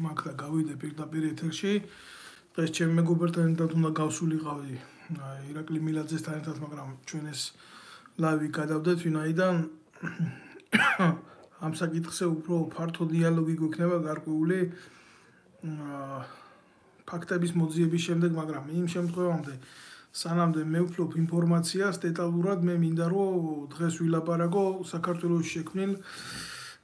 მაგ და გავიდე პირდაპირ ეთერში. დღეს ჩემი მეგობრებთან ერთად უნდა გავსულიყავი ირაკლი მილაძესთან ერთად, მაგრამ ჩვენ ეს ლაივი გადავდეთ, ვინაიდან ამ საკითხზე უფრო ფართო დიალოგი გვექნება გარკვეული ფაქტების მოძიების შემდეგ, მაგრამ იმ შემთხვევამდე სანამდე მე ვფლობ ინფორმაციას დეტალურად, მე მინდა რომ დღეს ვილაპარაკო საქართველოს შექმნილ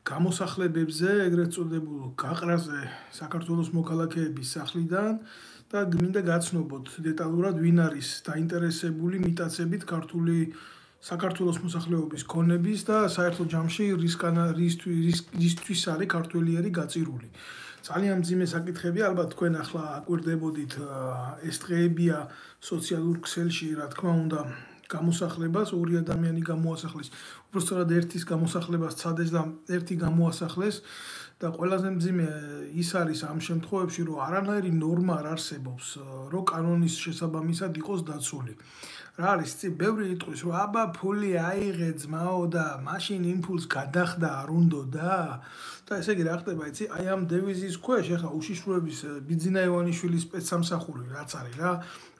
გამოსახლებებზე, ეგრეთ წოდებულ გაყრაზე საქართველოს მოქალაქეების სახლიდან და მინდა გაცნობოთ დეტალურად ვინ არის დაინტერესებული მიტაცებით ქართული საქართველოს მოსახლეობის ქონების და საერთო ჯამში რისთვის არის ქართველიერი გაწირული. ძალიან მძიმე საკითხები, ალბათ თქვენ ახლა აკვირდებოდით ეს დღეებია სოციალურ ქსელში, რა თქმა უნდა, გამოსახლებას, ორი ადამიანი გამოასახლეს, უბრალოდ ერთის გამოსახლებას ცადეს და ერთი გამოასახლეს და ყველაზე მძიმე ის არის ამ შემთხვევებში, რომ არანაირი ნორმა არ არსებობს, რომ კანონის შესაბამისად იყოს დაცული. რა არის, ბევრი იტყვის, რომ აბა ფული აიღე ძმაო და მაშინ იმ ფულს გადახდა არ უნდოდა და ესე იგი რა ხდება, იცი, აი ამ დევიზის ქვეშ ახლა უშიშროების ბიძინა ივანიშვილის სპეცსამსახური რაც არის რა,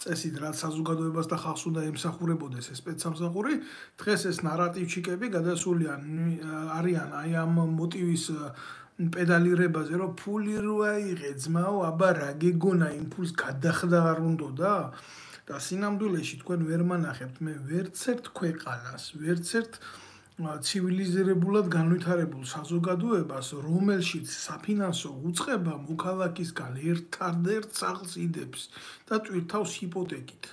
წესით რაც საზოგადოებას და ხალხს უნდა ემსახურებოდეს ეს სპეცსამსახური, დღეს ეს ნარატივჩიკები გადასული არიან აი ამ მოტივის პედალირებაზე, რომ ფული რო აიღე ძმაო, აბა რა გეგონა იმ ფულს გადახდა არ უნდოდა? და სინამდვილეში თქვენ ვერ მანახებთ მე ვერცერთ ქვეყანას, ვერცერთ ცივილიზირებულად განვითარებულ საზოგადოებას, რომელშიც საფინანსო უწყება მოქალაქისგან ერთადერთ სახლს იდებს და ტვირთავს ჰიპოთეკით.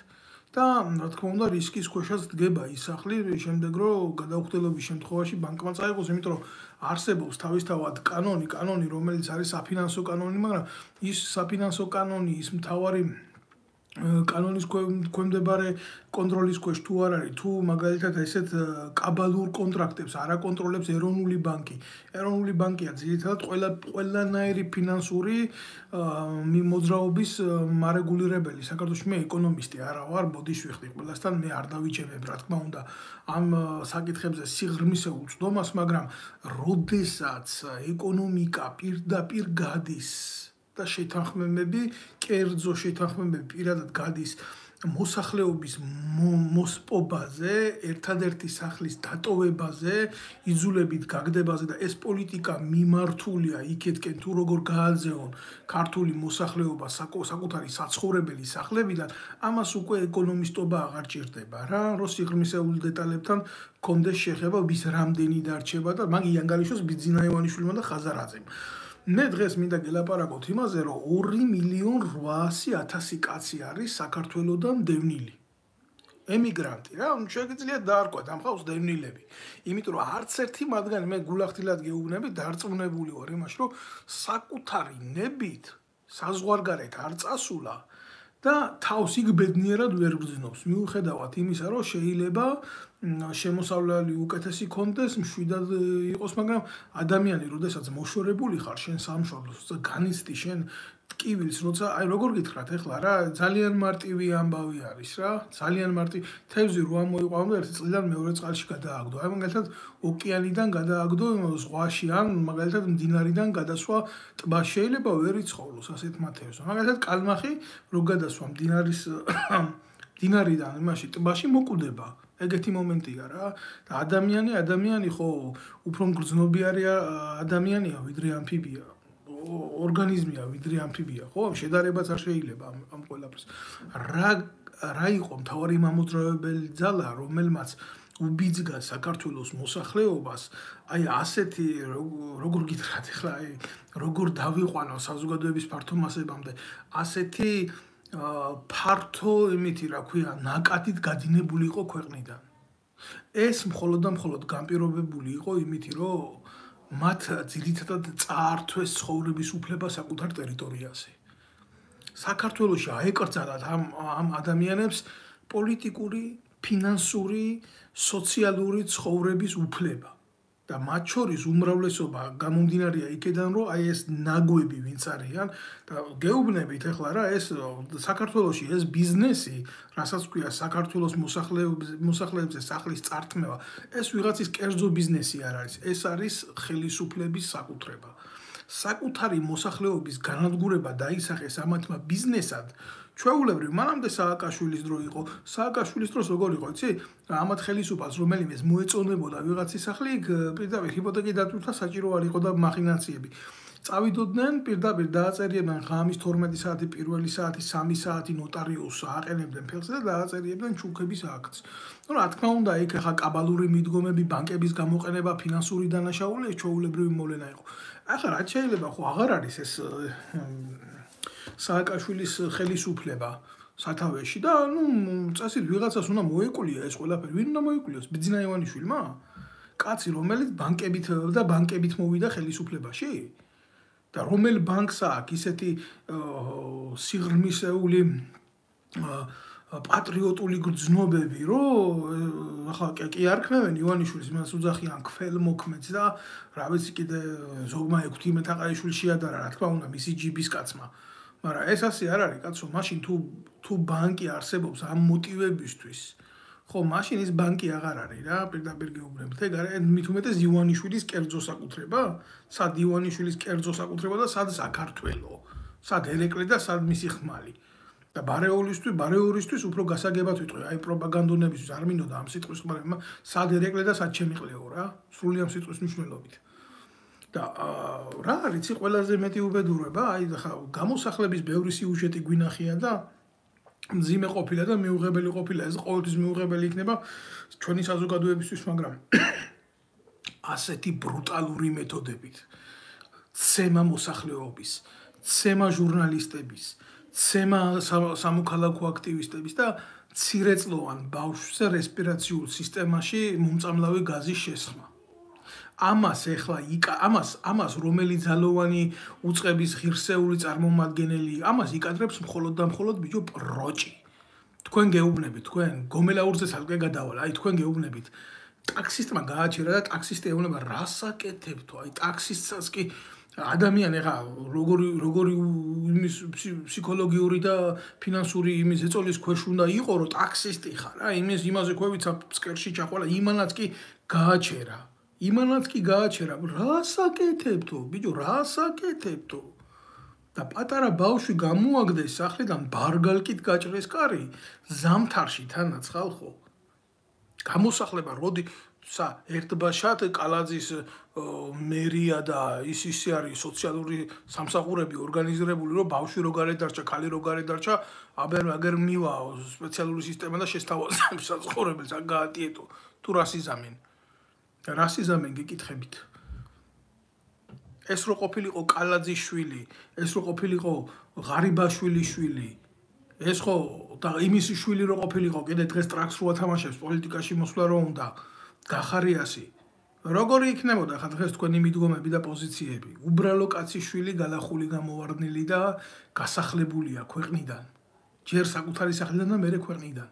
და რა თქმა უნდა რისკის ქვეშაც დგება ის სახლი, შემდეგ რომ გადაუხდელობის შემთხვევაში ბანკმა წაიღოს, იმიტომ რომ არსებობს თავისთავად კანონი, რომელიც არის საფინანსო კანონი, მაგრამ ის საფინანსო კანონი, ის მთავარი კანონის ქვემდებარე კონტროლის ქვეშ თუ არ არის, თუ მაგალითად ესეთ კაბალურ კონტრაქტებს არ აკონტროლებს ეროვნული ბანკი. ეროვნული ბანკია ძირითადად ყველანაირი ფინანსური მოძრაობის მარეგულირებელი. საქართველოში მე ეკონომისტი არა ვარ, ბოდიში ვიხდი ყველასთან, მე არ დავიჩემებ, რა თქმა უნდა, ამ საკითხებზე სიღრმისეულ წვდომას, მაგრამ როდესაც ეკონომიკა პირდაპირ გადის და შეთანხმებები, კერძო შეთანხმებები პირადად გადის მოსახლეობის მოსპობაზე, ერთადერთი სახლის დატოვებაზე, იძულებით გაგდებაზე და ეს პოლიტიკა მიმართულია იქეთკენ თუ როგორ გააძეონ ქართული მოსახლეობა საკუთარი საცხოვრებელი სახლებიდან, ამას უკვე ეკონომისტობა აღარ ჭირდება რა, რომ სიღრმისეულ დეტალებთან კონდეს შეხება, ვის რამდენი დარჩება და მაგ იანგალიშოს ბიძინა ივანიშვილმა და ხაზარაძემ. მე დღეს მინდა გელაპარაკოთ იმაზე, რომ 2.800.000 კაცი არის საქართველოდან დევნილი. ემიგრანტი რა, შეგიძლიათ დაარქვათ ამ ხალხს დევნილები. იმიტომ რომ არც ერთი მათგანი მე გულახდილად გეუბნები, დარწმუნებული ვარ იმაში, რომ საკუთარი ნებით საზღვარგარეთ არ წასულა და თავს იქ ბედნიერად ვერ გრძნობს. მიუხედავად იმისა, რომ შეიძლება შემოსავლელი უკეთესი კონდეს, მშვიდად იყოს, მაგრამ ადამიანი, როდესაც მოშორებული ხარ შენ სამშობლოს და განიცდი შენ ტკივილს, როცა აი როგორ გითხრათ ახლა რა, ძალიან მარტივი ამბავი არის რა, ძალიან მარტივი. თევზი რო ამოიყვანო და ერთი წლიდან მეორე წყალში გადააგდო. აი მაგალითად ოკეანიდან გადააგდო ზღვაში ან მაგალითად მდინარიდან გადასვა ტბაში შეიძლება ვერ იცხოვროს ასეთმა თევზმა. მაგალითად კალმახი რო გადასვა მდინარიდან იმაში ტბაში მოკვდება. ეგეთი მომენტია რა და ადამიანი ხო უფრო მგრძნობიარე ადამიანია ვიდრე ამფიბია, ორგანიზმია ვიდრე ამფიბია, ხო? შედარებაც არ შეიძლება ამ ყველაფერს. რა იყო მთავარი მამოძრავებელი ძალა, რომელმაც უბიძგა საქართველოს მოსახლეობას, აი ასეთი როგორ გითხრათ ახლა, აი როგორ დავიყვანო საზოგადოების ფართო მასებამდე, ასეთი ფართო იმითი რა ქვია, ნაკადით გადინებული იყო ქვეყნიდან. ეს მხოლოდ და მხოლოდ განპირობებული იყო იმითი, რომ მათ ძირითადად წაართვეს ცხოვრების უფლება საკუთარ ტერიტორიაზე. საქართველოში აეკრძალათ ამ ადამიანებს პოლიტიკური, ფინანსური, სოციალური ცხოვრების უფლება. და მათ შორის უმრავლესობა გამომდინარეა იქიდან, რომ აი ეს ნაგვები ვინც არიან და გეუბნებით ახლა რა, ეს საქართველოში ეს ბიზნესი, რასაც ქვია საქართველოს მოსახლეებზე სახლის წართმევა, ეს ვიღაცის კერძო ბიზნესი არ არის, ეს არის ხელისუფლების საკუთრება. საკუთარი მოსახლეობის განადგურება დაისახეს ამათმა ბიზნესად, ჩვეულებრივ მანამდე სააკაშვილის დრო იყო. სააკაშვილის დროს როგორ იყო, იცი? ამათ ხელისუფალს რომელიმეს მოეწონებოდა ვიღაც სახლი, პირდაპირ ჰიპოთეკი დატვირთვა საჭირო არ იყო და მახინაციები. წავიდოდნენ პირდაპირ დააწერიებდნენ ღამის 12 საათი, პირველი საათი, 3 საათი ნოტარიუსს აყენებდნენ ფეხზე და დააწერიებდნენ ჩუქების აქტს. რა თქმა უნდა, იქ ახლა კაბალური მიდგომები, ბანკების გამოყენება, ფინანსური დანაშაული ჩვეულებრივი მოვლენა იყო. ახლა რაც შეიძლება ხო აღარ არის ეს სააკაშვილის ხელისუფლება სათავეში და წესით ვიღაცას უნდა მოეკვლია ეს ყველაფერი. ვინ უნდა მოეკლიოს? ბიძინა ივანიშვილმა? კაცი, რომელიც ბანკებით მოვიდა ხელისუფლებაში? და რომელ ბანკს აქვს ისეთი სიღრმისეული პატრიოტული გრძნობები, რომ ახლა კი არ ქმევენ ივანიშვილს, იმას უძახიან ქველმოქმედს და რა ვიცი კიდე ზოგმა ექვთი მეთაყაიშვილი შეადარა, რა თქმა უნდა, მისი ჯიბის კაცმა. მაგრამ ეს ასე არ არის, კაცო, მაშინ თუ ბანკი არსებობს ამ მოტივებისთვის, ხო, მაშინ ის ბანკი აღარ არის რა, პირდაპირ გეუბნებით. ეგ არის მით უმეტეს ივანიშვილის კერძო საკუთრება? სად ივანიშვილის კერძო საკუთრება და სად საქართველო? სად ერეკლე და სად მისი ხმალი? და ბარეორისთვის უფრო გასაგებად ვიტყვი, აი პროპაგანდონებისთვის არ მინდოდა ამ სიტყვის ხმარება, სად ერეკლე და სად შემიყლეო რა, სრული ამ სიტყვის მნიშვნელობით. და რა არის ყველაზე მეტი უბედურება, აი ხა გამოსახლების ბევრი სიუჟეტი გვინახია და მძიმე ყოფილა და მიუღებელი ყოფილა, ეს ყოველთვის მიუღებელი იქნება ჩვენი საზოგადოებისთვის, მაგრამ ასეთი ბრუტალური მეთოდებით ცემა მოსახლეობის, ცემა ჟურნალისტების, ცემა სამოქალაქო აქტივისტების და მცირეწლოვან ბავშვზე რესპირაციულ სისტემაში მომწამლავი გაზის შესხმა. ამას რომელი ძალოვანი უწყების ღირსეული წარმომადგენელი, ამას იკადრებს მხოლოდ და მხოლოდ ბიჭო პროჭი. თქვენ გეუბნებით, თქვენ გომელაურზე ცალკე გადავალ, აი თქვენ გეუბნებით. ტაქსისტმა გააჩერა და ტაქსისტი ეუბნება რას აკეთებთო, აი ტაქსისტსაც კი ადამიანი ხა როგორი იმის ფსიქოლოგიური და ფინანსური იმის ეწოლის ქვეშ უნდა იყო, რომ ტაქსისტი ხარ, რა, იმაზე ქვევიცა ფსკერში ჩახვალა, იმანაც კი გააჩერა. რას აკეთებთო, ბიჭო, რას აკეთებთო? და პატარა ბავშვი გამოაგდეს სახლიდან ბარგალკით გაჭრეს კარი, ზამთარში თანაც ხალხო. გამოსახლება როდი ერთბაშად კალაძის მერია და ისე არის სოციალური სამსახურები ორგანიზირებული, რომ ბავშვი რო გარეთ დარჩა, ქალი რო გარეთ დარჩა, აგერ მივა სპეციალური სისტემა და შესთავაზა საცხოვრებელს, აქ გაატიეტო. თუ რას იზამენ გიკითხებით. ეს რო ყოფილიყო კალაძის შვილი, ეს რო ყოფილიყო ღარიბაშვილის შვილი, ეს ხო და იმის შვილი რო ყოფილიყო, კიდე დღეს ტრაქს რო ათამაშებს, პოლიტიკაში მოსვლა რო უნდა, გახარიასი. როგორი იქნებოდა ხა დღეს თქვენი მიდგომები და პოზიციები? უბრალო კაცის შვილი გალახული გამოვარდნილი და გასახლებულია ქვეყნიდან. ჯერ საკუთარი სახლიდან და მერე ქვეყნიდან.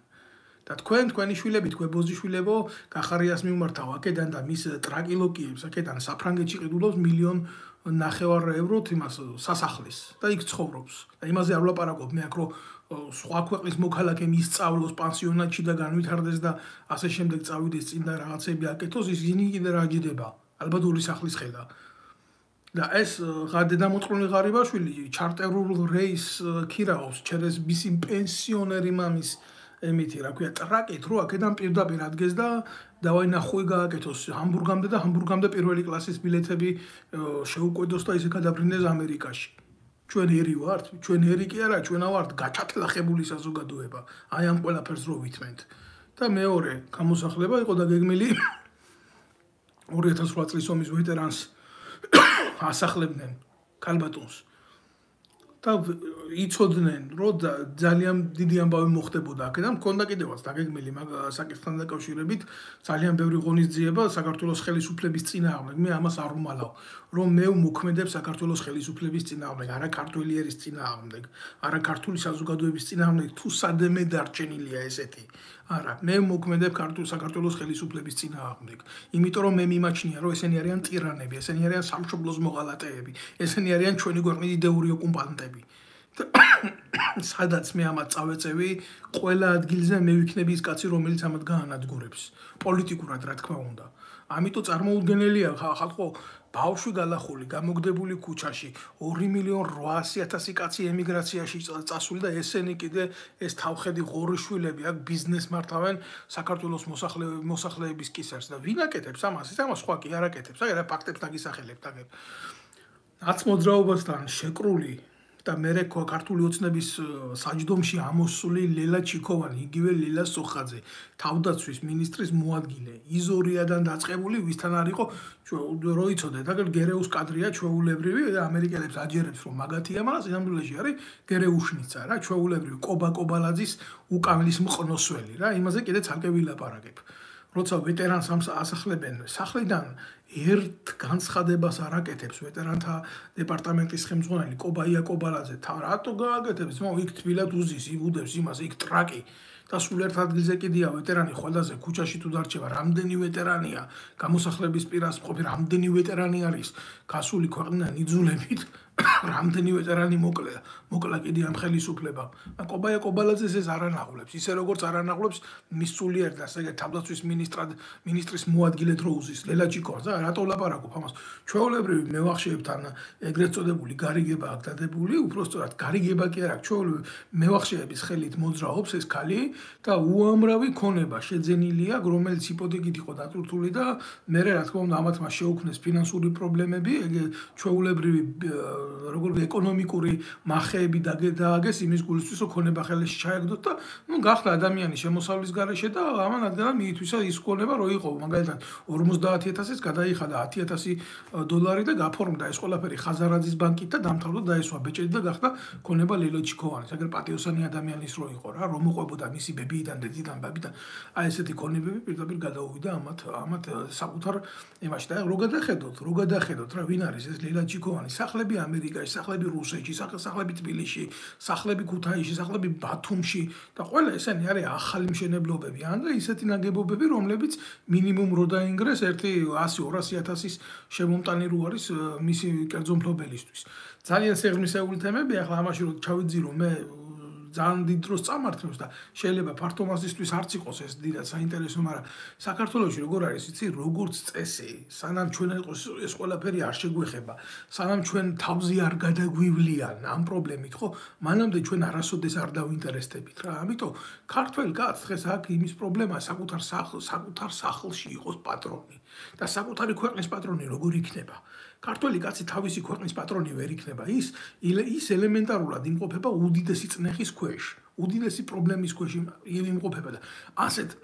და თქვენი შვილები, თქვენ ბოზიშვილებო, გახარიას მიმართავ აქედან და მის ტრაკილოკიებს აქედან საფრანგეთში ყიდულობს 1.5 ევროთ იმას სასახლეს და იქ ცხოვრობს. და იმაზე არ ვლაპარაკობ მე აქ რომ სხვა ქვეყნის მოქალაქე მისწავლოს პანსიონატში და განვითარდეს და ასე შემდეგ წავიდეს წინ და რაღაცები აკეთოს, ისინი კიდე რა ჯდება? ალბათ ორი სახლის ხედა. და ეს დედამოწყრული ღარიბაშვილი ჩარტერულ რეის ქირაობს ჩერეს მისი პენსიონერი მამის ემითი რა ქვია ტრაკით რო აქედან პირდაპირ ადგეს და დავაი ნახვი გააკეთოს ჰამბურგამდე და ჰამბურგამდე პირველი კლასის ბილეთები შეუკვედოს და ისე გადაბრინდეს ამერიკაში. ჩვენ ერი ვართ, ჩვენ ერი კი არა, ჩვენ ვართ გაჩათლახებული საზოგადოება. აი ამ ყველაფერს რო ვითმენთ. და მეორე გამოსახლება იყო დაგეგმილი 2008 წლის ომის ვეტერანს ასახლებდნენ ქალბატონს. და იცოდნენ, რომ ძალიან დიდი ამბავი მოხდებოდა აქედან, მქონდა კიდევაც დაგეგმილი საკითხთან დაკავშირებით ძალიან ბევრი ღონისძიება საქართველოს ხელისუფლების წინააღმდეგ. მე ამას არ ვმალავ, რომ მე ვმოქმედებ საქართველოს ხელისუფლების წინააღმდეგ, არა ქართველი ერის წინააღმდეგ, არა ქართული საზოგადოების წინააღმდეგ, თუ სადმე დარჩენილია ესეთი. არა, მე ვმოქმედებ საქართველოს ხელისუფლების წინააღმდეგ. იმიტომ რომ მე მიმაჩნია, რომ ესენი არიან ტირანები, ესენი არიან სამშობლოს მოღალატეები, ესენი არიან ჩვენი ქვეყნის იდეური ოკუპანტები. სადაც მე ამათ წავეწევი, ყველა ადგილზე მე ვიქნები ის კაცი, რომელიც ამათ გაანადგურებს. პოლიტიკურად, რა თქმა უნდა. ამიტომ წარმოუდგენელია ხალხო ბავშვი გალახული გამოგდებული ქუჩაში 2.800.000 კაცი ემიგრაციაში წასული და ესენი კიდე ეს თავხედი ღორიშვილები აქ ბიზნეს მართავენ საქართველოს მოსახლეების კისერს და ვინ აკეთებს ამას? ამას სხვა კი არ აკეთებს. აი რა ფაქტებს დაგისახელებთ აგებ. რაც მოძრაობასთან შეკრული და მე ხო ქართული ოცნების საჯდომში ამოსული ლელა ჩიქოვანი, იგივე ლელა სოხაძე, თავდაცვის მინისტრის მოადგილე, იზორიადან დაწყებული, ვისთან არ იყო რო იცოდეთ, აგერ გერეუს კადრია ჩვეულებრივი და ამერიკელებს აჯერებს რომ მაგათია, მაგრამ სინამდვილეში არის გერეუშნიცა რა, ჩვეულებრივი კობა კობალაძის უკამლის მყნოსველი რა, იმაზე კიდე ცალკე ვილაპარაკებ. როცა ვეტერანს ასახლებენ სახლიდან ერთ განცხადებას არ აკეთებს ვეტერანთა დეპარტამენტის ხელმძღვანელი კობაია კობალაძე, რატო გააკეთებს? იქ თბილად უზის, იბუდებს იმას, იქ ტრაკი და სულ ერთ ადგილზე კიდია ვეტერანი ხოლაზე ქუჩაში თუ დარჩება, რამდენი ვეტერანია, გამოსახლების პირას მყოფი რამდენი ვეტერანი არის, გასული ქვეყნიდან იძულებით, რამდენი ვეტერანი მოკლა კიდე ამ ხელისუფლებამ. კობაია კობალაძეს ეს არ ანაღვლებს, ისე როგორც არ ანაღვლებს მის სულიერ და ესე თავდაცვის მინისტრის მოადგილედ რო უზის ლელა ჩიქოვანს. რატო ვლაპარაკობ ამას? ჩვეულებრივი მევახშეებთან ეგრეთ წოდებული გარიგება აქ დადებული, უпростоრად გარიგება კი არა, ჩვეულებრივი მევახშეების ხელით მოძრაობს ეს ქალი და უამრავი ქონება შეძენილია, რომელიც იპოთეკით იყო დატვირთული და მე რა თქმა უნდა ამათ მას შეუქმნეს ფინანსური პრობლემები, როგორი ეკონომიკური მახეები დააგეს იმის გულისთვის, რომ ქონება ხელში ჩაეგდოთ და გახდა ადამიანი შემოსავლის გარეშე და ამან ადგენა მიითვისა ის ქონება რო იყო, მაგალითად 50,000-ის გადაიხადა $10,000 და გაფორმდა ეს ყველაფერი ხაზარაძის ბანკით და დამთავრდა დაესვა ბეჭედი და გახდა ქონება ლელა ჩიქოვანის. აგერ პატიოსანი ადამიანის რო იყო რა, რომ მოყვებოდა მისი ბებიიდან, დედიდან, ბაბიდან, აი ესეთი ქონებები პირდაპირ გადაუვიდა ამათ საკუთარ იმაში და რო გადახედოთ რა, ვინ არის ეს ლელა ჩიქოვანი? სახლები ამერიკაში, სახლები რუსეთში, სახლები თბილისში, სახლები ქუთაისში, სახლები ბათუმში და ყველა ესენი არის ახალი მშენებლობები. ან და ისეთი ნაგებობები, რომლებიც მინიმუმ რო დაინგრეს 100-200,000-ის შემომტანი რო არის მისი კერძო მფლობელისთვის. ძალიან სიღრმისეული თემები, ახლა ამაში რო ჩავიძირო მე ძალიან დიდ დროს წამართლებს და შეიძლება ფართო მასისთვის არც იყოს ეს დიდად საინტერესო, მაგრამ საქართველოში როგორ არის, იცი, როგორც წესი, სანამ ჩვენ ეს ყველაფერი არ შეგვეხება, სანამ ჩვენ თავზე არ გადაგვივლიან ამ პრობლემით, ხო, მანამდე ჩვენ არასოდეს არ დავინტერესდებით რა. ამიტომ ქართველ კაცს დღეს აქ იმის პრობლემაა საკუთარ სახლში იყოს პატრონი და საკუთარი ქვეყნის პატრონი როგორ იქნება? ქართველი კაცი თავისი ქვეყნის პატრონი ვერ იქნება. ის ელემენტარულად იმყოფება უდიდესი წნეხის ქვეშ, უდიდესი პრობლემის ქვეშ იმყოფება და ასეთ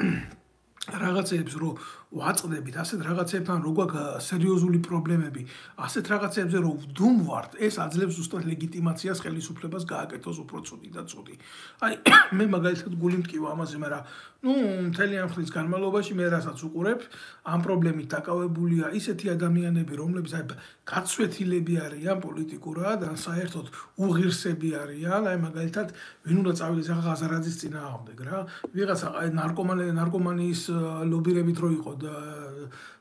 რაღაცებს რო ვაწყდებით, ასეთ რაღაცებთან რო გვაქვს სერიოზული პრობლემები, ასეთ რაღაცებზე რო ვდუმვართ, ეს აძლევს ზუსტად ლეგიტიმაციას ხელისუფლებას გააკეთოს უფრო ცუდი და ცუდი. აი მე მაგალითად გული მტკივა ამაზე, მაგრამ მთელი ამ ხნის განმავლობაში მე რასაც უყურებ, ამ პრობლემით დაკავებულია ისეთი ადამიანები, რომლებიც აი გაცვეთილები არიან პოლიტიკურად, ან საერთოდ უღირსები არიან, აი მაგალითად ვინ უნდა წავიდეს ახლა ხაზარაძის წინააღმდეგ რა, ვიღაცა აი ნარკომანიის ლობირებით რო იყო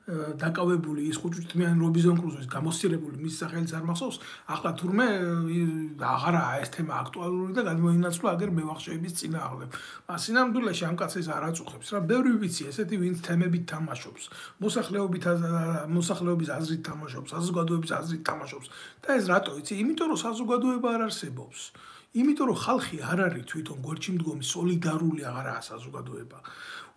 დაკავებული ის ხუჭუჭთმიანი რობინზონ კრუზოს გამოსცირებული მის სახელიც არ მახსოვს, ახლა თურმე აღარაა ეს თემა აქტუალური და გადმოინაცვლა აგერ მევახშეების წინააღმდეგ. სინამდვილეში ამ კაცს ეს არ აწუხებს რა, ბევრი ვიცი ესეთი ვინც თემებით თამაშობს, მოსახლეობის აზრით თამაშობს, საზოგადოების აზრით თამაშობს და ეს რატო იცი? იმიტომ რომ საზოგადოება არ არსებობს. იმიტომ რომ ხალხი არ არის თვითონ გვერდში მდგომი, სოლიდარული აღარაა საზოგადოება.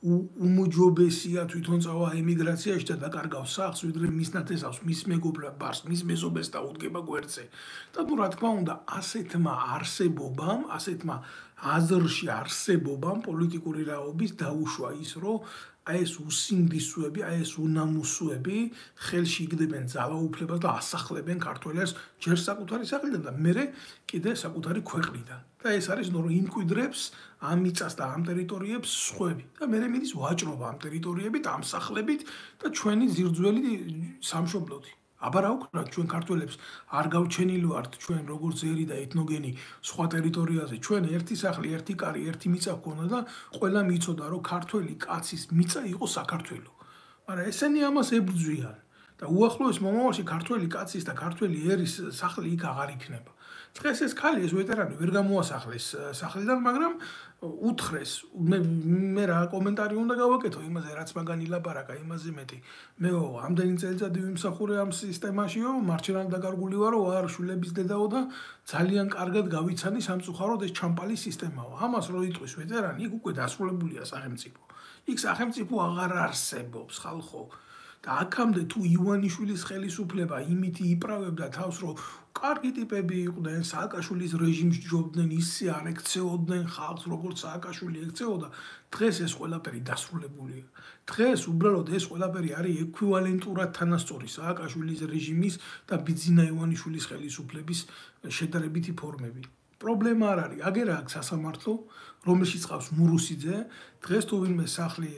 უმოჯობესია თვითონ წავა ემიგრაციაში და დაკარგავს სახლს, ვიდრე მის ნათესავს, მის მეგობრებს, მის მეზობელს დაუდგება გვერდზე. და რა თქმა უნდა, ასეთმა არსებობამ, ასეთმა აზრში არსებობამ პოლიტიკური რაობის დაუშვა ის, რომ აი ეს უსინდისოები, აი ეს უნამუსოები ხელში იგდებენ ძალაუფლებას და ასახლებენ ქართველებს ჯერ საკუთარი სახლიდან და მერე კიდე საკუთარი ქვეყნიდან. და ეს არის რომ იმკვიდრებს ამ მიწას და ამ ტერიტორიებს სხვები. და მერე მიდის ვაჭრობა ამ ტერიტორიებით, ამ სახლებით და ჩვენი ძირძველი სამშობლოთი. აბა რა ვქნათ ჩვენ ქართველებს არ გავჩენილი ვართ ჩვენ როგორც ერი და ეთნოგენი სხვა ტერიტორიაზე. ჩვენ ერთი სახლი, ერთი კარი, ერთი მიწა გვქონდა და ყველა მიცოდა რომ ქართველი კაცის მიწა იყო საქართველო. მაგრამ ესენი ამას ებრძვიან და უახლოეს მომავალში ქართველი კაცის და ქართველი ერის სახლი იქ აღარ იქნება. დღეს ეს ქალი ეს ვეტერანი ვერ გამოასახლეს სახლიდან, მაგრამ უთხრეს მე რა კომენტარი უნდა გავაკეთო იმაზე რაც მაგან ილაპარაკა იმაზე მეტი მე ამდენი წელიწადი ვიმსახურე ამ სისტემაშიო მარჩენად დაკარგული ვარო არ შვილების დედაო და ძალიან კარგად გავიცანი სამწუხაროდ ეს ჩამპალი სისტემაო ამას რო იტყვის ვეტერანი იქ უკვე დასრულებულია სახელმწიფო იქ სახელმწიფო აღარ არსებობს ხალხო და აქამდე თუ ივანიშვილის ხელისუფლება იმითი იპრავებდა თავს რომ კარგი ტიპები იყვნენ სააკაშვილის რეჟიმს ჯობდნენ ისე არ ექცეოდნენ ხალხს როგორც სააკაშვილი ექცეოდა დღეს ეს ყველაფერი დასრულებულია დღეს უბრალოდ ეს ყველაფერი არის ეკვივალენტურად თანასწორი სააკაშვილის რეჟიმის და ბიძინა ივანიშვილის ხელისუფლების შედარებითი ფორმები პრობლემა არ არის აგერ აქ სასამართლო რომელშიც ყავს მურუსიძე დღეს თუ ვინმე სახლი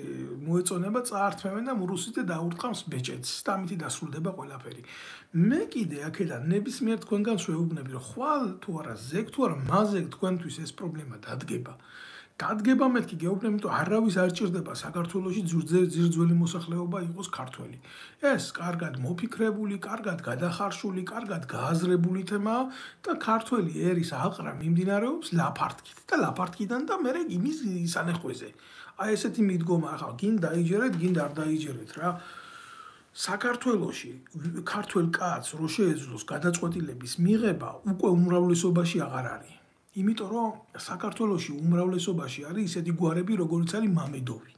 მოეწონება წაართმევენ და მურუსიძე დაურტყამს ბეჭედს და ამით დასრულდება ყველაფერი მე კიდე აქედან ნებისმიერ თქვენგანს ვეუბნები რომ ხვალ თუ არა ზეგ თუ არა მაზეგ თქვენთვის ეს პრობლემა დადგება მეთქი გეუბნები რომ არავის არ ჭირდება საქართველოში ძირძველი მოსახლეობა იყოს ქართველი ეს კარგად მოფიქრებული კარგად გადახარშული კარგად გააზრებული თემაა და ქართველი ერის აყრა მიმდინარეობს ლაფარტკით და ლაფარტკიდან და მე იმის სანეხვეზე აი ესეთი მიდგომა ახლა გინ დაიჯერეთ გინ არ დაიჯერეთ რა საქართველოში ქართველ კაცს რო შეეძლოს გადაწყვეტილების მიღება უკვე უმრავლესობაში აღარ არის იმიტომ რომ საქართველოში უმრავლესობაში არის ისეთი გვარები როგორც არის მამედოვი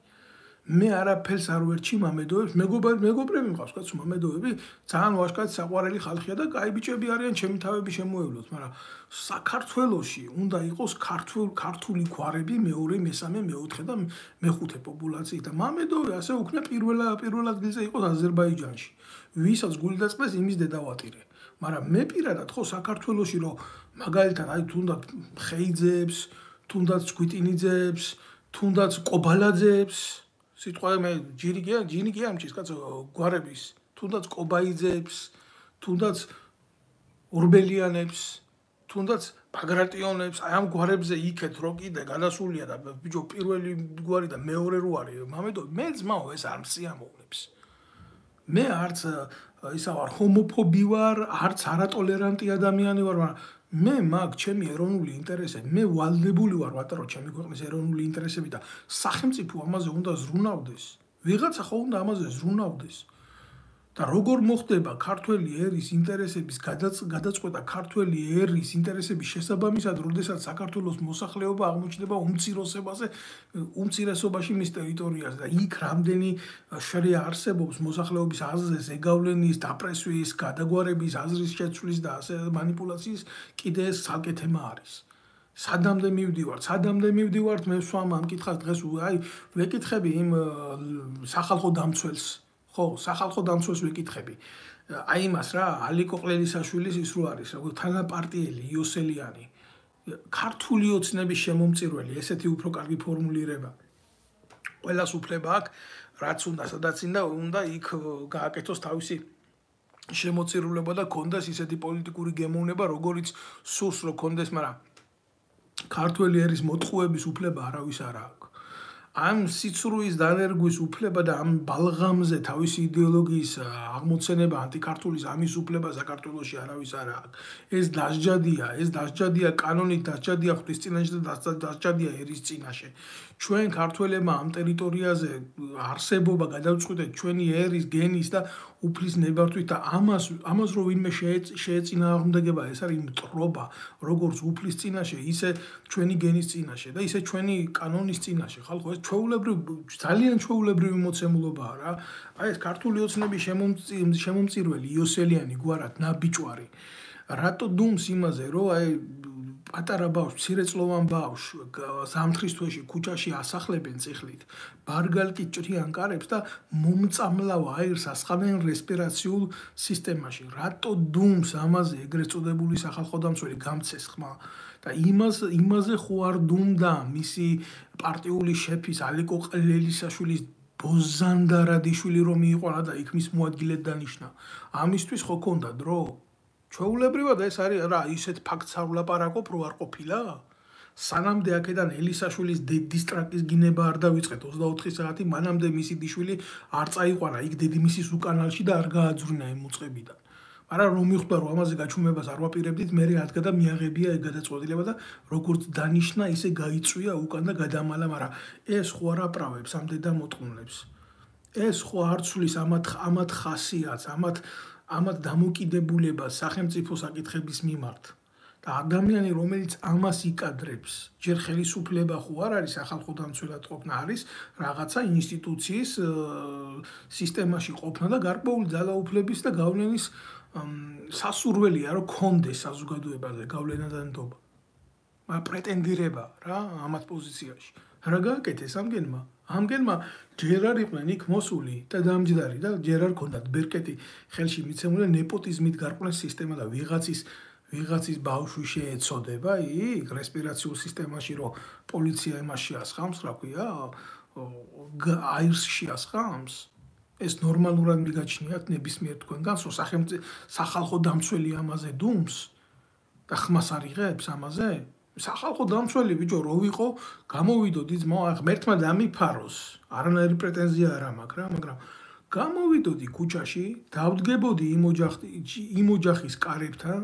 მე არაფერს არ ვერჩი მამედოვებს მეგობრები მყავს კაცო მამედოვები ძალიან ვაშკაცი საყვარელი ხალხია და კაი ბიჭები არიან ჩემი თავები შემოევლოთ მაგრამ საქართველოში უნდა იყოს ქართული გვარები მეორე მესამე მეოთხე და მეხუთე პოპულაციით და მამედოვი ასე უკნა პირველად გილზე იყოს აზერბაიჯანში ვისაც გული დაწყდეს იმის დედავატირე მაგრამ მე პირადად ხო საქართველოში რომ მაგალითად აი თუნდაც ხეიძეებს, თუნდაც კვიტინიძეებს, თუნდაც ყობალაძეებს, სიტყვაზე მე ჯინი კი ამჩის კაცო გვარების, თუნდაც ყობაიძეებს, თუნდაც ორბელიანებს, თუნდაც ბაგრატიონებს, აი ამ გვარებზე იქეთ რო კიდე გადასულია და ბიჭო პირველი გვარი და მეორე რო არის, მამედო მე ძმაო ეს არ მსიამოვნებს. მე არც ისა ვარ ჰომოფობი ვარ, არც არატოლერანტი ადამიანი ვარ, მაგრამ მე მაგ ჩემი ეროვნული ინტერესები, მე ვალდებული ვარ ვატარო ჩემი ქვეყნის ეროვნული ინტერესები და სახელმწიფო ამაზე უნდა ზრუნავდეს. ვიღაცა ხო უნდა ამაზე ზრუნავდეს. და როგორ მოხდება ქართველი ერის ინტერესების გადაწყვეტა ქართველი ერის ინტერესების შესაბამისად, როდესაც საქართველოს მოსახლეობა აღმოჩნდება უმცირესობაში მის ტერიტორიაზე და იქ რამდენი შრია არსებობს მოსახლეობის აზრზე ზეგავლენის, დაპრესვის, გადაგვარების, აზრის შეცვლის და ასე მანიპულაციის კიდე ეს ცალკე თემა არის. სადამდე მივდივართ მე სვამ ამ კითხავს დღეს აი ვეკითხები იმ სახალხო დამცველს ხო, სახალხო დამცველს ვეკითხები. აი იმას რა, ალიკო ყლელისაშვილის ის რო არის, როგორც თანაპარტიელი იოსელიანი, ქართული ოცნების შემომწირველი, ესეთი უფრო კარგი ფორმულირება. ყველას უფლება აქვს, რაც უნდა, სადაც უნდა იქ გააკეთოს თავისი შემოწირულება და კონდეს ისეთი პოლიტიკური გემოვნება, როგორიც სურს რო კონდეს, მაგრამ ქართველი ერის მოტყუების უფლება არავის არ აქვს. ამ სიცრუის დანერგვის უფლება და ამ ბალღამზე თავისი იდეოლოგიის აღმოცენება ანტიქართულის ამის უფლება საქართველოში არავის არ აქვს. ეს დასჯადია კანონით, დასჯადია ღვთისწინაშე და დასჯადია ერის წინაშე. ჩვენ ქართველებმა ამ ტერიტორიაზე არსებობა გადავწყვიტეთ ჩვენი ერის გენის და უფლის ნებართვით და ამას რო ვინმე შეეწინააღმდეგება, ეს არის მტრობა, როგორც უფლის წინაშე, ისე ჩვენი გენის წინაშე და ისე ჩვენი კანონის წინაშე. ხალხო, ეს ძალიან ჩვეულებრივი მოცემულობაა რა. აი ეს ქართული ოცნების შემომწირველი იოსელიანი გვარად ნაბიჭვარი. რატო დუმს იმაზე, რომ აი პატარა ბავშვს, მცირეწლოვან ბავშვს ზამთრის თვეში ქუჩაში ასახლებენ წიხლით, ბარგალკით ჭრიან კარებს და მომწამლავ აირს ასხამენ რესპირაციულ სისტემაში. რატო დუმს ამაზე ეგრეთ წოდებული სახალხო დამცველი გამცეს ხმა და იმაზე ხო არ დუმდა მისი პარტიული შეფის ალიკო ყლელისაშვილის ბოზანდარადიშვილი რომ მიიყვანა და იქ მის მოადგილედ დანიშნა. ამისთვის ხო ქონდა დრო? ჩვეულებრივად ეს არის რა ისეთ ფაქტს არ ვლაპარაკობ რო არ ყოფილა? სანამდე აქედან ელისაშვილის დედისტრაკის გინება არ დავიწყეთ 24 საათი მანამდე მისი დიშვილი არ წაიყვანა იქ დედიმისის უკანალში და არ გააძვριნა იმ უწყებიდან. მაგრამ რომ მიხვდა რომ ამაზე გაჩუმებას არ ვაპირებდით, მე ადგა და მიაღებია ეგ გადაწყვეტილება და როგორც დანიშნა, ისე გაიწვია უკან და გადამალა, მაგრამ ეს ხო არ აპრავებს ამ დედამოტყუნლებს. ეს ხო არ ცვლის ამათ ხასიათს, ამათ დამოკიდებულებას სახელმწიფო საკითხების მიმართ. და ადამიანი, რომელიც ამას იკადრებს, ჯერ ხელისუფლება ხო არ არის სახალხო დამცველად ყოფნა, არის რაღაცა ინსტიტუციის სისტემაში ყოფნა და გარკვეული ძალაუფლების და გავლენის სასურველია, რომ კონდეს საზოგადოებაზე გავლენა და ნდობა. მაგრამ პრეტენდირება რა ამათ პოზიციაში. რა გააკეთეს ამგენმა ჯერ არ იყვნენ იქ მოსული და დამჯდარი და ჯერ არ ქონდათ ბერკეტი ხელში მიცემული ნეპოტიზმით გარკვეული სისტემა და ვიღაცის ბავშვი შეეცოდება იქ რესპირაციულ სისტემაში რომ პოლიცია იმაში ასხამს, რა ქვია, აირსში ასხამს. ეს ნორმალურად მიგაჩნიათ ნებისმიერ თქვენგანს, რომ სახალხო დამცველი ამაზე დუმს და ხმას არ იღებს ამაზე? სახალხო დამცველი ბიჭო რო ვიყო, გამოვიდოდი ძმაო, ღმერთმა დამიფაროს. არანაირი პრეტენზია არ მაქვს რა, მაგრამ გამოვიდოდი ქუჩაში, დავდგებოდი იმ ოჯახის კარებთან,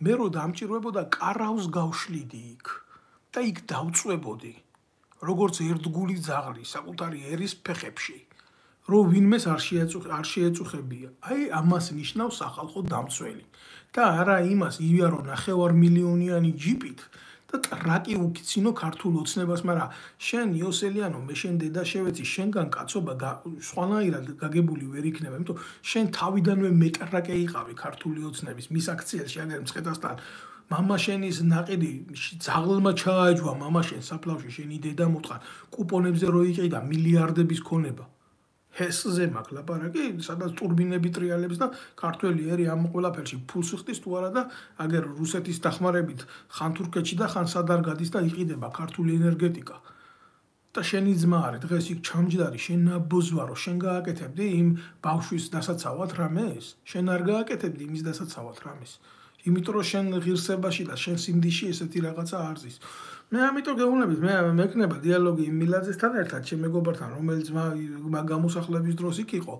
მე რო დამჭირვებოდა კარავს გავშლიდი იქ და იქ დავწვებოდი, როგორც ერთგული ძაღლი საკუთარი ერის ფეხებში, რომ ვინმეს არ შეეწუხებია. აი ამას ნიშნავს სახალხო დამცველი. და არა იმას ივიარო 9 მილიონიანი ჯიპით და ტრაკი უკიცინო ქართულ ოცნებას, მაგრამ შენ იოსელიანო, მე შენ დედა შევეცი, შენგან კაცობა სხვანაირად გაგებული ვერ იქნება, იმიტომ შენ თავიდანვე მეტრაკე იყავი ქართული ოცნების მის აქციელში, აგერ მცხეთასთან მამა შენის ნაყიდი ძაღლმა ჩააჯვა მამა შენ საფლავში, შენი დედა მოთხარ კუპონებზე რო იყიდა მილიარდების ქონება. ჰესზე მაქვს ლაპარაკი, სადაც ტურბინები ტრიალებს და ქართველი ერი ამ ყველაფერში ფულს ხდის თუ არა და აგერ რუსეთის დახმარებით ხან თურქეთში და ხან სადარ გადის და იყიდება ქართული ენერგეტიკა. და შენი ძმა არის დღეს იქ ჩამჯდარი, შენ ნაბოზვარო, შენ გააკეთებდი იმ ბავშვის დასაცავად რამეს? შენ არ გააკეთებდი იმის დასაცავად რამეს? იმიტომ რომ შენ ღირსებაში და შენ სიმდიში ესეთი რაღაცა არ ზის. მე ამიტომ გეუბნებით, მე მექნება დიალოგი იმ მილაძესთან ერთად, ჩემ მეგობართან, რომელიც გამოსახლების დროს იქ იყო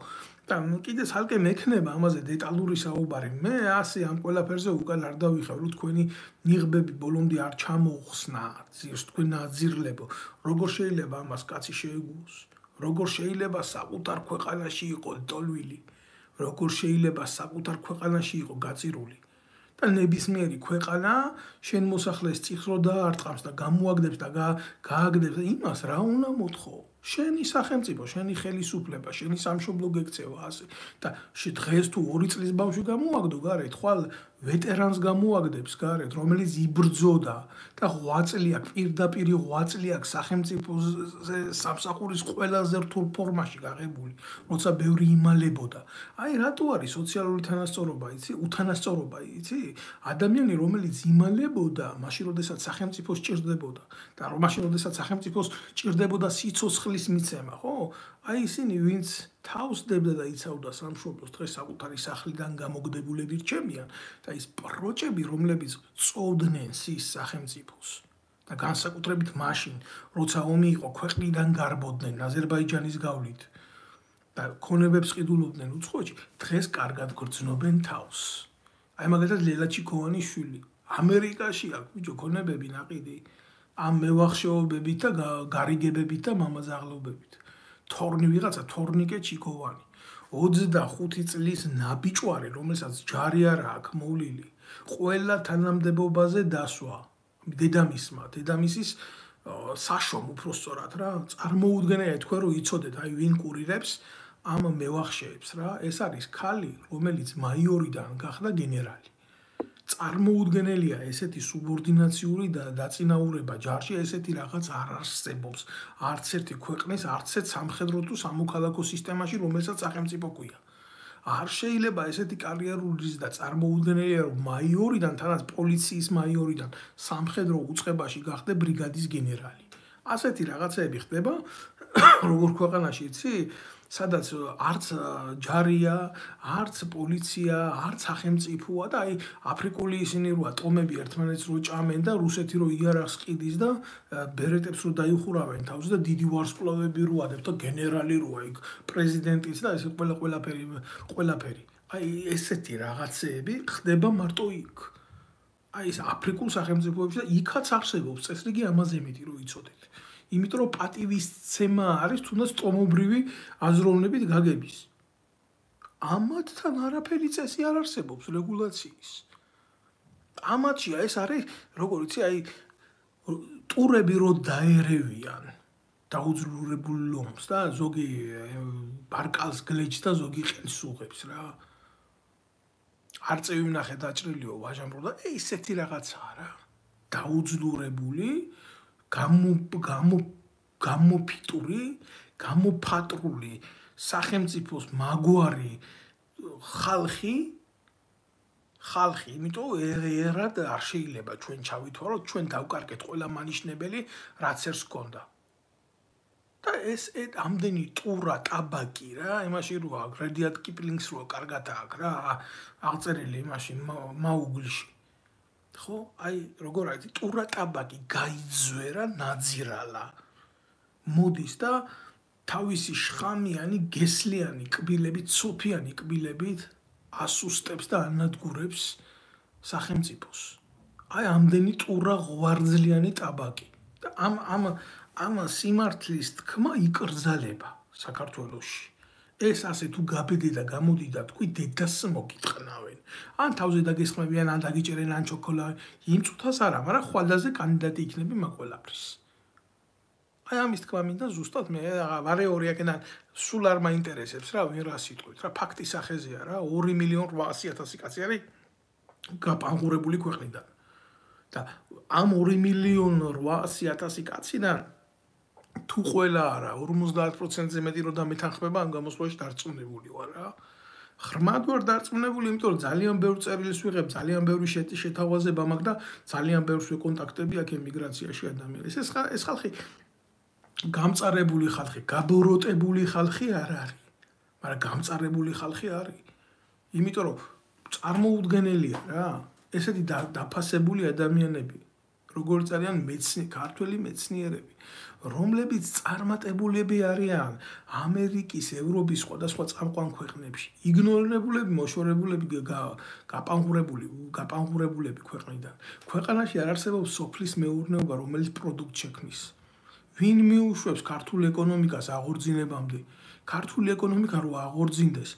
და კიდე ცალკე მექნება ამაზე დეტალური საუბარი. მე ასე ამ ყველაფერზე უკან არ დავიხევ, რომ თქვენი ნიღბები ბოლომდე არ ჩამოხსნა, ძირს თქვენ აძირლებო. როგორ შეიძლება ამას კაცი შეეგუოს? როგორ შეიძლება საკუთარ ქვეყანაში იყო ტოლვილი? როგორ შეიძლება საკუთარ ქვეყანაში იყო გაწირული? და ნებისმიერი ქვეყანა შენ მოსახლეს წიხს რო დაარტყამს და გამოაგდებს და გააგდებს იმას რა უნდა მოთხო? შენი სახელმწიფო, შენი ხელისუფლება, შენი სამშობლო გექცევა ასე. და დღეს თუ 2 წლის ბავშვი გამოაგდო გარეთ, ხვალ ვეტერანს გამოაგდებს გარეთ, რომელიც იბრძოდა და 8 წელი აქვს, პირდაპირ 8 წელი აქვს სახელმწიფოზე სამსახურის ყველაზე რთულ ფორმაში გაღებული, როცა ბევრი იმალებოდა. აი რატო არის სოციალური თანასწორობა, იცი? უთანასწორობა, იცი? ადამიანი, რომელიც იმალებოდა, მაშინ როდესაც სახელმწიფოს ჭირდებოდა და მაშინ როდესაც სახელმწიფოს ჭირდებოდა სიცოცხლის მიცემა, ხო? აი ისინი, ვინც თავს დებდა და იცავდა სამშობლოს, დღეს საკუთარი სახლიდან გამოგდებულები რჩებიან და ის პროჭები, რომლებიც წოვდნენ სის სახელმწიფოს და განსაკუთრებით მაშინ, როცა ომი იყო, ქვეყნიდან გარბოდნენ აზერბაიჯანის გავლით და ქონებებს ყიდულობდნენ უცხოეთში, დღეს კარგად გრძნობენ თავს. აი მაგალითად ლელა ჩიქოვანის შვილი ამერიკაში აქვს ბიჭო ქონებები ნაყიდი ამ მევახშეობებით და გარიგებებით და მამაზაღლობებით. თორნი ვიღაცა თორნიკე ჩიქოვანი 25 წლის ნაბიჭვარი, რომელსაც ჯარი არ აქვს მოვლილი, ყველა თანამდებობაზე დასვა დედამისის საშომ უпроსწორად რა, წარმოუდგენელია თქვენ რომ იცოდეთ აი ვინ კურირებს ამ მევახშეებს რა, ეს არის ქალი, რომელიც მაიორიდან გახდა გენერალი. წარმოუდგენელია ესეთი სუბორდინაციული და დაწინაურება ჯარში, ესეთი რაღაც არ არსებობს არც ერთი ქვეყნის, არც ერთ სამხედრო თუ სამოქალაქო სისტემაში, რომელსაც სახელმწიფო ქვია. არ შეიძლება ესეთი კარიერული და წარმოუდგენელია, რომ მაიორიდან, თანაც პოლიციის მაიორიდან სამხედრო უწყებაში გახდა ბრიგადის გენერალი. ასეთი რაღაცები ხდება როგორ ქვეყანაში, იცი? სადაც არც ჯარია, არც პოლიცია, არც სახელმწიფოა და აი აფრიკული ისინი როა ტომები ერთმანეთს რო ჭამენ და რუსეთი რო იარაღს ყიდის და ბერეტებს რო დაიხურავენ თავს და დიდი ვარსკვლავები როა და გენერალი როა იქ პრეზიდენტიც და ეს ყველაფერი. აი ესეთი რაღაცეები ხდება მარტო იქ. აი ეს აფრიკულ სახელმწიფოებში და იქაც არსებობს წესრიგი ამაზე მეტი რომ იცოდეთ. იმიტომ რომ პატივისცემა არის თუნდაც ტომობრივი აზროვნებით გაგების. ამათთან არაფერი წესი არ არსებობს რეგულაციის. ამათშია ეს არის, როგორ იცი, აი ტურები რო დაერევიან დაუძლურებულ ლომს და ზოგი ბარკალს გლეჯს და ზოგი ყელს უღებს რა. არწევი ვნახე დაჭრილიო ვაჟამრო და ესეთი რაღაცაა რა. დაუძლურებული, გამოფიტური, გამოფატრული სახელმწიფოს მაგვარი ხალხი, იმიტომ ერად არ შეიძლება ჩვენ ჩავითვალოთ, ჩვენ დავკარგეთ ყველა მანიშნებელი, რაც ერთს გქონდა. და ეს ამდენი ტურა ტაბაკი რა, იმაში როა რედიად კიპლინგს როა კარგად აქვს რა, აღწერილი იმაში მაუგლში. ხო, აი როგორ არის ტურა ტაბაკი გაიძვერა, ნაძირალა. მოდის და თავისი შხამიანი, გესლიანი კბილებით, ცოფიანი კბილებით ასუსტებს და ანადგურებს სახელმწიფოს. აი ამდენი ტურა ღვარძლიანი ტაბაკი. და ამ სიმართლის თქმა იკრძალება საქართველოში. ეს ასე თუ გაბედი და გამოდი და თქვი დედას მოგიტყნავენ. ან თავზე დაგესხმებიან, ან დაგიჭერენ, ან ჩოკოლადი. იმ წუთას არა, მაგრამ ხვალდაზე კანდიდატი იქნები მაგ-ყველაფრის. აი ამის თქმა მინდა ზუსტად მე ვარეორი აქედან სულ არ მაინტერესებს რა ვინ რას იტყვით რა ფაქტი სახეზეა რა 2.800.000 კაცი არის გაპანღურებული ქვეყნიდან და ამ 2.800.000 კაციდან თუ ყველა არა 50%-ზე მეტი რო დამეთანხმება ამ გამოსვლაში დარწმუნებული ვარ რა ღრმად ვარ დარწმუნებული იმიტომ რომ ძალიან ბევრ წერილს ვიღებ ძალიან ბევრი შეთავაზება მაქვს და ძალიან ბევრს ვეკონტაქტები აქ ემიგრაციაში ადამიანებს ეს ხალხი გამწარებული ხალხი, გაბოროტებული ხალხი არ არის. მაგრამ გამწარებული ხალხი არის. იმიტომ რომ წარმოუდგენელია რა. ესეთი დაფასებული ადამიანები, როგორც არიან ქართველი მეცნიერები, რომლებიც წარმატებულები არიან ამერიკის, ევროპის სხვადასხვა წამყვან ქვეყნებში. იგნორირებულები, მოშორებულები, გაპანღურებულები ქვეყნიდან. ქვეყანაში არ არსებობს სოფლის მეურნეობა, რომელიც პროდუქტ შექმნის. ვინ მიუშვებს ქართულ ეკონომიკას აღორძინებამდე? ქართული ეკონომიკა რო აღორძინდეს,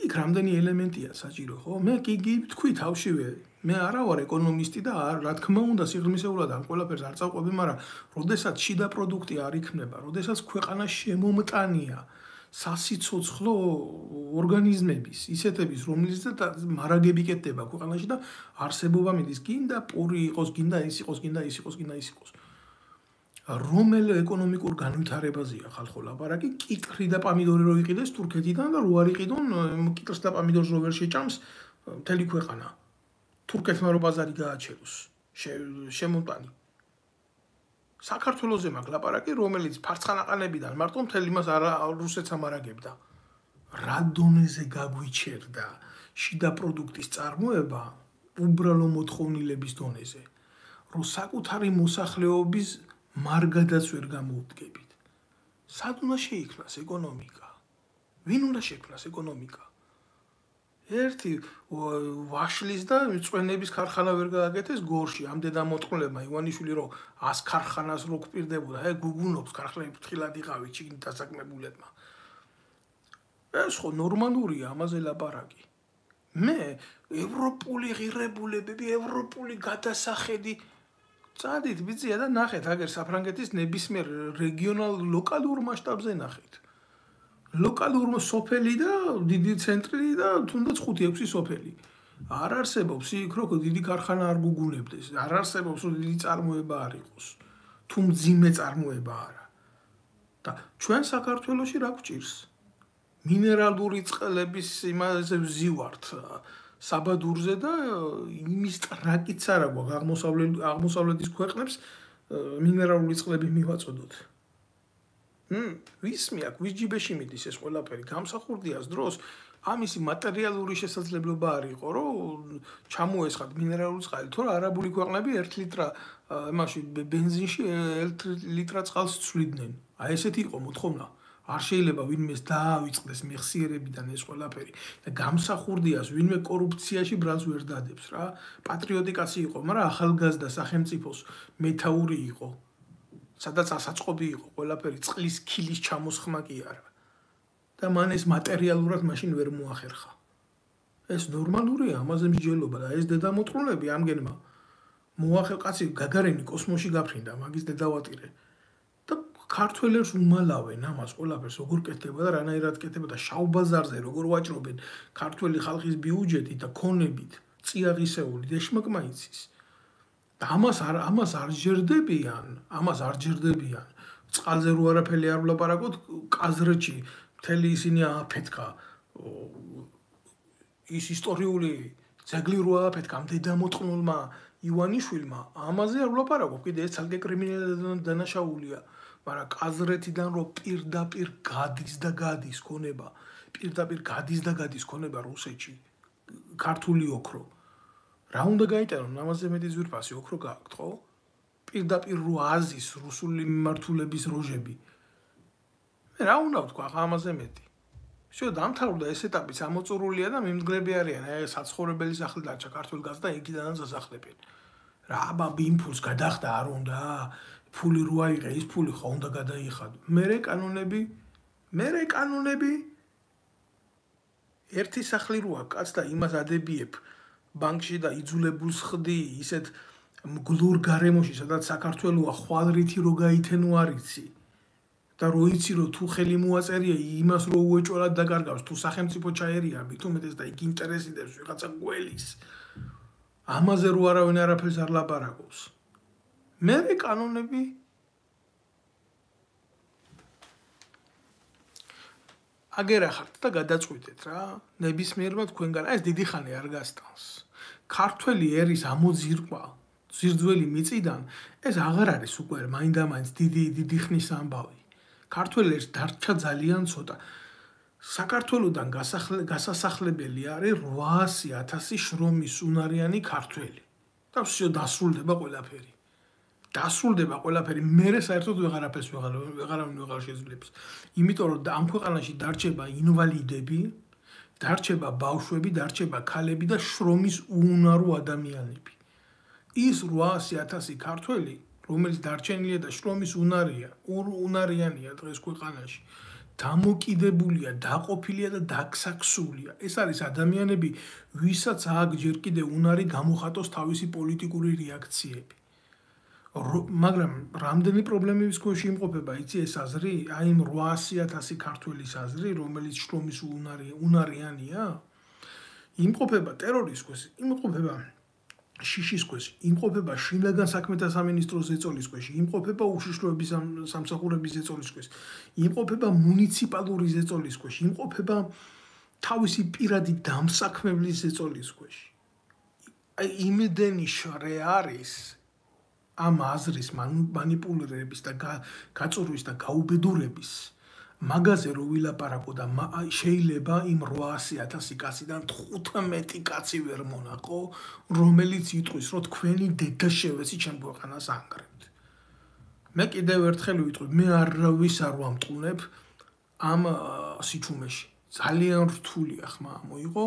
იქ რამდენი ელემენტია საჭირო, ხო? მე კი თქვი თავშივე, მე არა ვარ ეკონომისტი და რა თქმა უნდა სიღრმისეულად ამ ყველაფერს არ წავყვები, მაგრამ როდესაც შიდა პროდუქტი არ იქნება, როდესაც ქვეყანა შემომტანია სასიცოცხლო ორგანიზმების, ისეთების, რომელზეც მარაგები კეთდება ქვეყანაში და არსებობა მიდის, გინდა პური იყოს, გინდა ის იყოს, გინდა ის იყოს, გინდა ის იყოს. რომელ ეკონომიკურ განვითარებაზეა ხალხო ლაპარაკი, კიტრი და პამიდორი რო იყიდეს თურქეთიდან და რო არ იყიდონ კიტრს და პამიდორს რო ვერ შეჭამს მთელი ქვეყანა. თურქეთმა რო ბაზარი გააჩეროს, შემოტანი. საქართველოზე მაქვს ლაპარაკი, რომელიც ფარცხანაყანებიდან მარტო მთელი მას რუსეთს ამარაგებდა. რა დონეზე გაგვიჩერდა შიდა პროდუქტის წარმოება უბრალო მოთხოვნილების დონეზე, რომ საკუთარი მოსახლეობის მარგადაც ვერ გამოუდგებით. სად უნდა შეიქმნას ეკონომიკა? ვინ უნდა შექმნას ეკონომიკა? ერთი ვაშლის და მწვენების ქარხანა ვერ გააკეთეს გორში. ამდენ ამოტყულებმა ივანიშვილი რომ 100 ქარხანას რო გვპირდებოდა, გუგუნობს ქარხნები ფრთხილად იყავით ჩიგნით დასაქმებულებმა. ეს ხო ნორმალურია ამაზე ლაპარაკი. მე ევროპული ღირებულებები, ევროპული გადასახედი წადით ბიძია და ნახეთ აგერ საფრანგეთის ნებისმიერ რეგიონალ ლოკალურ მასშტაბზე ნახეთ. ლოკალურ სოფელი და დიდი ცენტრი და თუნდაც 5-6 სოფელი. არ არსებობს იქ რო დიდი ქარხანა არ გუგუნებდეს, არ არსებობს რომ დიდი წარმოება არ იყოს. თუ მძიმე წარმოება არა. და ჩვენ საქართველოში რა გვჭირს? მინერალური წყლების იმაზე ვზივართ საბადურზე და იმის ტრაკიც არა გვაქვს აღმოსავლეთის ქვეყნებს მინერალური წყლები მივაწოდოთ. ვის მეაქ, ვის ჯიბეში მიდის ეს ყველაფერი? გამსახურდიას დროს ამისი მატერიალური შესაძლებლობა არ იყო, რომ ჩამოესხათ მინერალური წყალი, თორე არაბული ქვეყნები 1 ლიტრა იმაში ბენზინში 1 ლიტრა წყალს ცვლიდნენ. აი ესეთი იყო მოთხოვნა. არ შეიძლება ვინმეს დაავიწყდეს მეხსიერებიდან ეს ყველაფერი და გამსახურდიას ვინმე კორუფციაში ბრალს ვერ დადებს რა. პატრიოტი კაცი იყო, მაგრამ ახალგაზრდა სახელმწიფოს მეთაური იყო. სადაც ასაწყობი იყო ყველაფერი, წყლის ქილის ჩამოსხმა კი არა. და მან ეს მატერიალურად მაშინ ვერ მოახერხა. ეს ნორმალურია, ამაზე მსჯელობა და ეს დედამოწყლები ამგენმა მოახერხა გაგარენი კოსმოსში გაფრინდა, მაგის დედავატირე. და ქართველებს უმალავენ ამას ყველაფერს როგორ კეთდება და რანაირად კეთდება და შავბაზარზე როგორ ვაჭრობენ ქართველი ხალხის ბიუჯეტით და ქონებით, წიაღისეული დეშმაკმა იცის. და ამას არ ჯერდებიან. წყალზე რო არაფერი არ ვლაპარაკოთ, კაზრეთში მთელი ისინი ააფეთქა. ის ისტორიული ძეგლი რო ააფეთქა დედამოწყნულმა ივანიშვილმა, ამაზე არ ვლაპარაკობ, კიდე ეს ცალკე კრიმინალური დანაშაულია, მაგრამ კაზრეთიდან რო პირდაპირ გადის ქონება რუსეთში, ქართული ოქრო. რა უნდა გაიტანონ, ამაზე მეტი ძვირფასი ოქრო გააქვთ, ხო? პირდაპირ რო აზის რუსული მიმართულების როჟები. მე რა უნდა ვთქვა ამაზე მეტი? всё, დამთავრდა ეს ეტაპიც ამოწურულია და მიმდგრები არიან, აი საცხოვრებელი სახლი დარჩა ქართულ გაზ და იქიდანაც ასახლებენ. რა აბა ბიმფულს გადახდა არ უნდა? ფული რო აიღე, ის ფული ხო უნდა გადაიხადო. მერე კანონები ერთი სახლი როა კაც და იმას ადებიებ ბანკში და იძულებულს ხდი ისეთ მგლურ გარემოში, სადაც საქართველოა ხვალრითი რო გაითენო არიცი. და რო იცი რომ თუ ხელი მოაწერია იმას რო უეჭველად დაკარგავს, თუ სახელმწიფო ჩაერია მით უმეტეს და იქ ინტერესი დებს ვიღაცა გველის. ამაზე რო არავინ არაფერს არ ლაპარაკობს. მერე კანონები აგერახართ და გადაწყვიტეთ რა. ნებისმიერმა თქვენგან ეს დიდი ხანი არ გასტანს. ქართველი ერის ამოძირკვა ზირძველი მიწიდან ეს აღარ არის უკვე მაინდამაინც დიდი ხნის ამბავი. ქართველი ერს დარჩა ძალიან ცოტა. საქართველოდან გასასახლებელი არის 800,000 შრომის უნარიანი ქართველი. და всё დასრულდება ყველაფერი. მერე საერთოდ ვეღარ შეძლებს. იმიტომ რომ ამ ქვეყანაში დარჩება ინვალიდები, დარჩება ბავშვები, დარჩება ქალები და შრომის უუნარო ადამიანები. ის 800,000 ქართველი, რომელიც დარჩენილია და შრომის უნარიანია დღეს ქვეყანაში, დამოკიდებულია, დაყოფილია და დაგსაქსულია. ეს არის ადამიანები, ვისაც აქ ჯერ კიდე უნარი გამოხატოს თავისი პოლიტიკური რეაქციები. მაგრამ რამდენი პრობლემების ქვეშ იმყოფება, იცი ეს აზრი, აი იმ 800,000 ქართველის აზრი, რომელიც შრომის უნარიანია, იმყოფება ტერორის ქვეშ, იმყოფება შიშის ქვეშ, იმყოფება შინაგან საქმეთა სამინისტროს ზეწოლის ქვეშ, იმყოფება უშიშროების სამსახურების ზეწოლის ქვეშ, იმყოფება მუნიციპალური ზეწოლის ქვეშ, იმყოფება თავისი პირადი დამსაქმებლის ზეწოლის ქვეშ. აი იმდენი შრე არის ამ აზრის მანიპულირების და გაწურვის და გაუბედურების მაგაზე რო ვილაპარაკო და შეიძლება იმ 800,000 კაციდან 15 კაცი ვერ მონაყო, რომელიც იტყვის, რომ თქვენი დედა შევეცი ჩემ ქვეყანას ანგრევთ. მე კიდევ ერთხელ ვიტყვი, მე არავის არ ვამტყუნებ ამ სიჩუმეში. ძალიან რთულია ხმა მოიყო,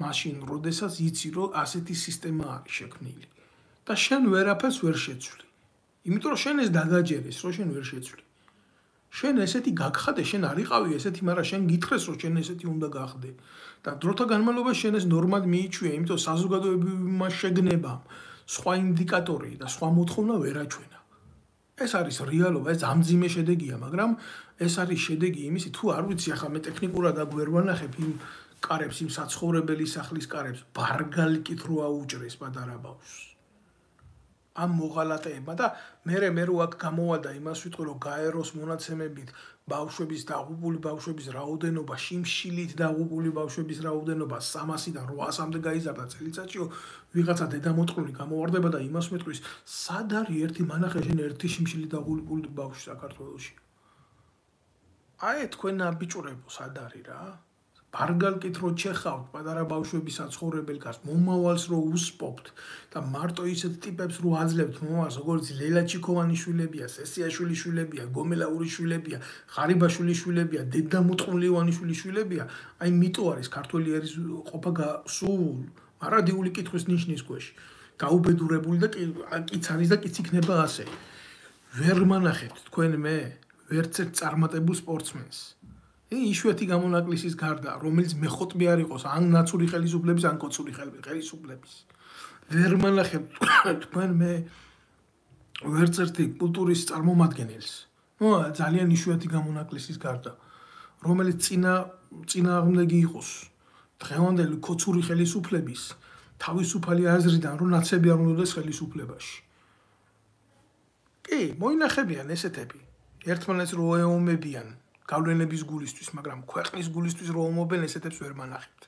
მაშინ როდესაც იცი, რომ ასეთი სისტემა არის შექმნილი. და შენ ვერაფერს ვერ შეცვლი. იმიტომ რომ შენ ეს დაგაჯერეს, რომ შენ ვერ შეცვლი. შენ ესეთი გაგხადე, შენ არ იყავი ესეთი, მაგრამ შენ გითხრეს, რომ შენ ესეთი უნდა გახდე. და დროთა განმავლობაში შენ ეს ნორმად მიიჩვია, იმიტომ საზოგადოებრივმა შეგნებამ სხვა ინდიკატორი და სხვა მოთხოვნა ვერ აჩვენა. ეს არის რეალობა, ეს ამძიმე შედეგია, მაგრამ ეს არის შედეგი იმისი, თუ არ ვიცი, ახლა მე ტექნიკურად აქ ვერ ვანახებ იმ კარებს, იმ საცხოვრებელი სახლის კარებს, ბარგალიკით რო აუჭრეს პატარა ბავშვს. ამ მოღალატეებმა და მე რო აქ გამოვალდა იმას ვიტყვი, რომ გაეროს მონაცემებით ბავშვების დაღუპული ბავშვების რაოდენობა, შიმშილით დაღუპული ბავშვების რაოდენობა 300-დან 800-მდე გაიზარდა წელიწადში, ვიღაცა დედამოწყლული გამოვარდება და იმას მეტყვის, სად არის ერთი მანახე შენ ერთი შიმშილით დაღუპული ბავშვი საქართველოში? აი თქვენ აბიჭურებო, სად არის რა? ბარგალკით რო ჩეხავთ პატარა ბავშვების საცხოვრებელ კარს, მომავალს რო უსპობთ და მარტო ისეთ ტიპებს რო აძლევთ მომავალს, როგორც ლელა ჩიქოვანის შვილებია, სესიაშვილის შვილებია, გომელაურის შვილებია, ღარიბაშვილის შვილებია, დედა მუტყულიოვანიშვილის შვილებია, აი მიტო არის ქართველი ერის ყოფა სულ მარადიული კითხვის ნიშნის ქვეშ. გაუბედურებული და კიც არის და კიც იქნება ასე. ვერ მანახებთ თქვენ მე ვერც ერთ წარმატებულ სპორტსმენს. იშვიათი გამონაკლისის გარდა, რომელიც მეხოტბი არ იყოს, ან ნაცური ხელისუფლების, ან კოცური ხელისუფლების. ვერ მანახებთ თქვენ მე ვერც ერთი კულტურის წარმომადგენელს. ძალიან იშვიათი გამონაკლისის გარდა, რომელიც წინააღმდეგი იყოს დღევანდელი კოცური ხელისუფლების თავისუფალი აზრიდან, რომ ნაცები არ უნდადეს ხელისუფლებაში. კი, მოინახებიან ესეთები. ერთმანეთს რო ეომებიან გავლენების გულისთვის, მაგრამ ქვეყნის გულისთვის რო ომობენ, ესეთებს ვერ მანახებთ.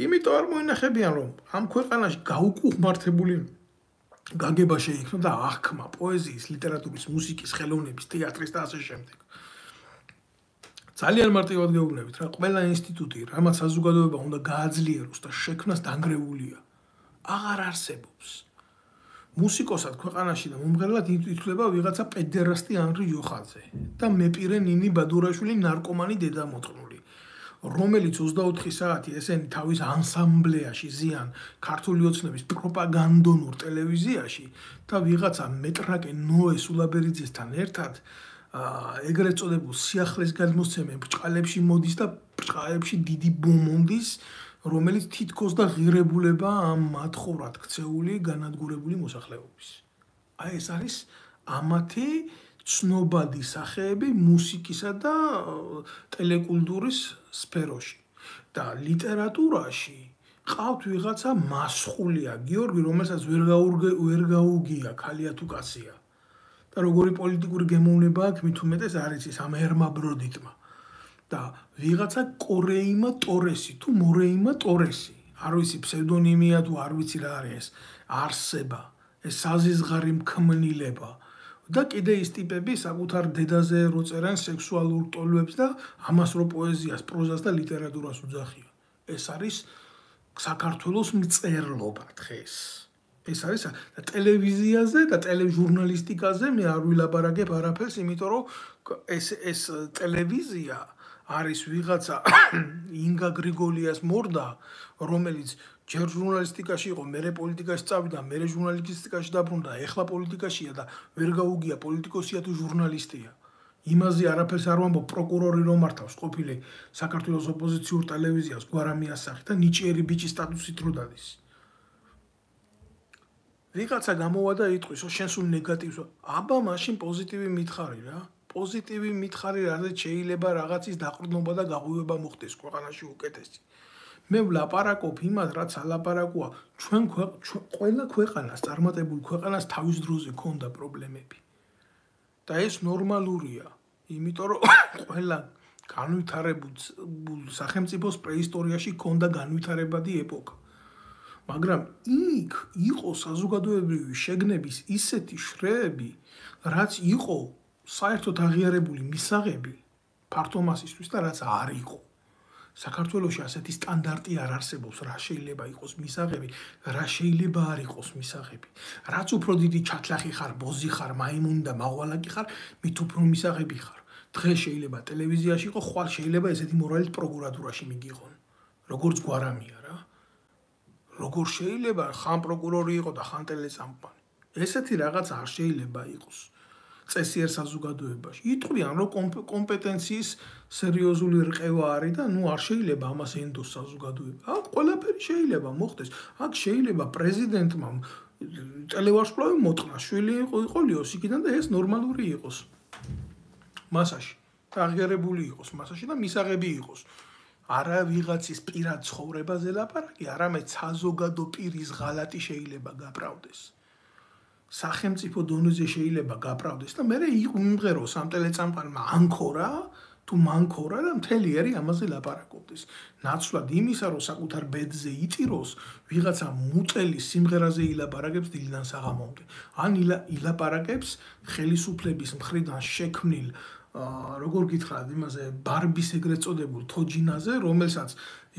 იმიტომ არ მოინახებიან, რომ ამ ქვეყანაში გაუკუღმართებული გაგება შეიქმნა და აღქმა პოეზიის, ლიტერატურის, მუსიკის, ხელოვნების, თეატრის და ასე შემდეგ. ძალიან მარტივად გეუბნებით, რა ყველა ინსტიტუტი, რამაც საზოგადოება უნდა გააძლიეროს და შექმნას დანგრეულია. აღარ არსებობს. მუსიკოსად ქვეყანაში და მომღერლად ითვლება ვიღაცა პედერასტი ანრი იოხაძე და მეპირე ნინი ბადურაშვილი ნარკომანი დედამოწყნული, რომელიც 24 საათი ესენი თავის ანსამბლეაში ზიან ქართული ოცნების პროპაგანდონურ ტელევიზიაში და ვიღაცა მეტრაკე ნოე სულაბერიძესთან ერთად ეგრეთ წოდებულ სიახლეს გადმოსცემენ ბრჭყალებში მოდის და ბრჭყალებში დიდი ბომონდის, რომელიც თითქოს და ღირებულება ამ მათხოვრად ქცეული განადგურებული მოსახლეობის. აი ეს არის ამათი ცნობადი სახეები მუსიკისა და ტელეკულტურის სფეროში. და ლიტერატურაში ყავთ ვიღაცა მასხულია გიორგი, რომელსაც ვერ გაუგია ქალია თუ კაცია. და როგორი პოლიტიკური გემოვნება აქვს, მით უმეტეს არის ის ამ ერმა ბროდიტმა. და ვიღაცა კორეიმა ტორესი თუ მორეიმა ტორესი, არ ვიცი ფსევდონიმია თუ არ ვიცი რა არის, არსება, ეს საზიზღარი მქმნილება და კიდე ის ტიპები საკუთარ დედაზე რო წერენ სექსუალურ ტოლვებს და ამას რო პოეზიას, პროზას და ლიტერატურას უძახიან. ეს არის საქართველოს მწერლობა დღეს. ეს არის და ტელევიზიაზე და ტელეჟურნალისტიკაზე მე არ ვილაპარაკებ არაფერს, იმიტომ რომ ეს ტელევიზია არის ვიღაცა ინგა გრიგოლიას მორდა, რომელიც ჯერ ჟურნალისტიკაში იყო, მერე პოლიტიკაში წავიდა, მერე ჟურნალისტიკაში დაბრუნდა, ეხლა პოლიტიკაშია და ვერ გაუგია პოლიტიკოსია თუ ჟურნალისტია. იმაზე არაფერს არ ვამბობ, პროკურორი რომ მართავს ყოფილი საქართველოს ოპოზიციურ ტელევიზიას გვარამიას სახით და ნიჭიერი ბიჭის სტატუსით რო დადის. ვიღაცა გამოვა და იტყვის, შენ სულ ნეგატივს, აბა მაშინ პოზიტივი მითხარი რა. პოზიტივი მითხარი, რადგან შეიძლება რაღაცის დაყრდნობა და გაღვივება მოხდეს ქვეყანაში უკეთესი. მე ვლაპარაკობ იმას, რაც ალაპარაკოა, ჩვენ ყველა ქვეყანას, წარმატებულ ქვეყანას თავის დროზე ქონდა პრობლემები. და ეს ნორმალურია, იმიტომ რომ ყველა განვითარებულ სახელმწიფოს პრეისტორიაში ქონდა განვითარებადი ეპოქა. მაგრამ იქ იყო საზოგადოებრივი შეგნების ისეთი შრეები, რაც იყო საერთოდ აღიარებული მისაღები ფართო მასისთვის და რაც არ იყო. საქართველოში ასეთი სტანდარტი არ არსებობს, რა შეიძლება იყოს მისაღები, რა შეიძლება არ იყოს მისაღები. რაც უფრო დიდი ჩათლახი ხარ, ბოზი ხარ, მაიმუნი და მაყვალაკი ხარ, მით უფრო მისაღები ხარ. დღეს შეიძლება ტელევიზიაში იყო, ხვალ შეიძლება ესეთი მორალით პროკურატურაში მიგიღონ. როგორც გვარამია რა. როგორ შეიძლება ხან პროკურორი იყო და ხან ტელესამყარი. ესეთი რაღაც არ შეიძლება იყოს. წესიერ საზოგადოებაში. იტყვიან, რომ კომპეტენციის სერიოზული რყევა არის და ნუ არ შეიძლება ამას ენდოს საზოგადოება. აქ ყველაფერი შეიძლება მოხდეს. აქ შეიძლება პრეზიდენტმა ტელევარსკვლავი მოტყნა, შვილი იყოლიოს იქიდან და ეს ნორმალური იყოს. მასაში. აღიარებული იყოს მასაში და მისაღები იყოს. არა ვიღაცის პირად ცხოვრებაზე ლაპარაკი, არამედ საზოგადო პირის ღალატი შეიძლება გაправდეს. სახელმწიფო დონეზე შეიძლება გაправდეს და მე იმღეროს ამ ტელეწამყარმა ანქორა თუ მანქორა და მთელი ერი ამაზე ლაპარაკობდეს. ნაცვლად იმისა, რომ საკუთარ ბედზე იტიროს, ვიღაცა მუწელის სიმღერაზე ილაპარაკებს დილიდან საღამომდე. ან ილაპარაკებს ხელისუფლების მხრიდან შექმნილ როგორ გითხრათ იმაზე ბარბის ეგრეთ წოდებულ თოჯინაზე, რომელსაც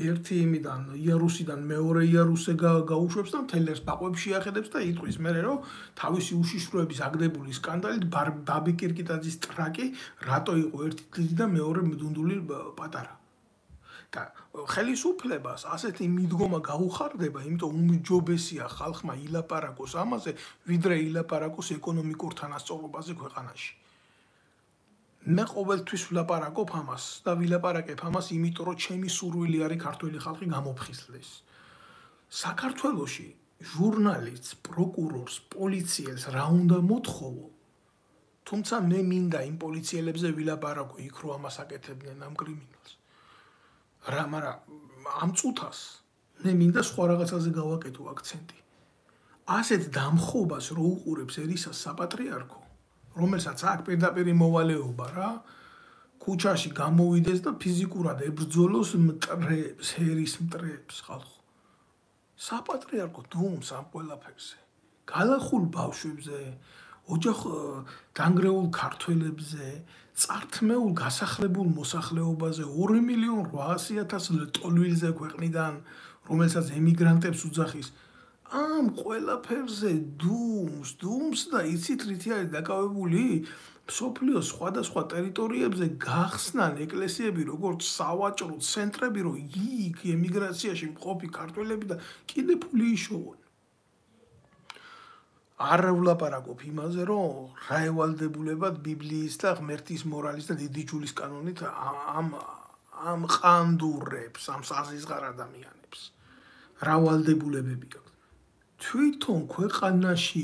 ერთი იმიდან იარუსიდან მეორე იარუსზე გაუშვებს და მთელს ბაყვებში ახედებს და იტყვის მერე რომ თავისი უშიშროების აგდებული სკანდალით ბაბი კირკიტაძის ტრაკი რატო იყო ერთი დიდი და მეორე მდუნდული პატარა. და ხელისუფლებას ასეთი მიდგომა გაუხარდება, იმიტომ უმჯობესია ხალხმა ილაპარაკოს ამაზე, ვიდრე ილაპარაკოს ეკონომიკურ თანასწორობაზე ქვეყანაში. მე ყოველთვის ვლაპარაკობ ამას და ვილაპარაკებ ამას, იმიტომ რომ ჩემი სურვილი არის ქართველი ხალხი გამოფხიზლდეს. საქართველოში ჟურნალისტს, პროკურორს, პოლიციელს რა უნდა მოთხოვო? თუმცა მე მინდა იმ პოლიციელებზე ვილაპარაკო იქ რო ამას აკეთებდნენ ამ კრიმინალს. მაგრამ ამ წუთას მე მინდა სხვა რაღაცაზე გავაკეთო აქცენტი. ასეთ დამხობას რო უყურებს ერისას საპატრიარქო, რომელსაც აქვს პირდაპირ მოვალეობა რა, ქუჩაში გამოვიდეს და ფიზიკურად ებრძოლოს მტრებს, ჰერის მტრებს ხალხო. საპატრიარქო დუმს ამ ყველაფერზე. გალახულ ბავშვებზე, ოჯახ დანგრეულ ქართველებზე, წართმეულ გასახლებულ მოსახლეობაზე 2.800.000 ტოლვილზე ქვეყნიდან, რომელსაც ემიგრანტებს უძახის, ამ ყველაფერზე დუმს და იცით რითი არის დაკავებული? მსოფლიოს სხვადასხვა ტერიტორიებზე გახსნან ეკლესიები, როგორც სავაჭრო ცენტრები, რომ იქ ემიგრაციაში მყოფი ქართველები და კიდე ფული იშოვონ. არ ვლაპარაკობ იმაზე, რომ რა ევალდებულებად ბიბლიის და ღმერთის მორალის და დიდი ჯულის კანონით ამ ყანდურებს, ამ საზიზღარ ადამიანებს. რა ვალდებულებები აქვს? თვითონ ქვეყანაში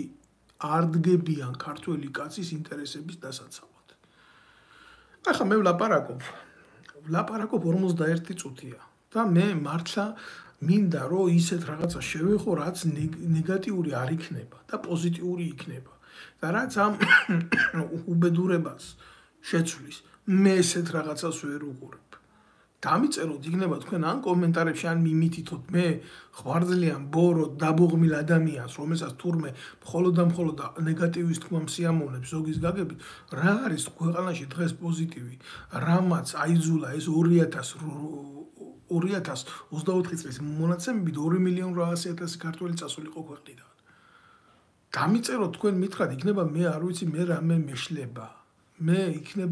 არ დგებიან ქართველი კაცის ინტერესების დასაცავად. ახლა მე ვლაპარაკობ 41 წუთია და მე მართლა მინდა რომ ისეთ რაღაცა შევეხო, რაც ნეგატიური არ იქნება და პოზიტიური იქნება და რაც ამ უბედურებას შეცვლის. მე ესეთ რაღაცას ვერ უყურებ. დამიწეროთ იქნება თქვენ ან კომენტარებში ან მიმითითოთ მე ხვარძლიან ბოროტ დაბოღმილ ადამიანს, რომელსაც თურმე მხოლოდ და მხოლოდ ნეგატივის თქმა მსიამოვნებს ზოგის გაგებით, რა არის ქვეყანაში დღეს პოზიტივი, რამაც აიძულა ეს 2024 წლის მონაცემებით 2.800.000 ქართველი წასულიყო ქვეყნიდან. დამიწეროთ თქვენ მითხრათ, იქნება მე არ ვიცი მე რამე მეშლება. მე იქნებ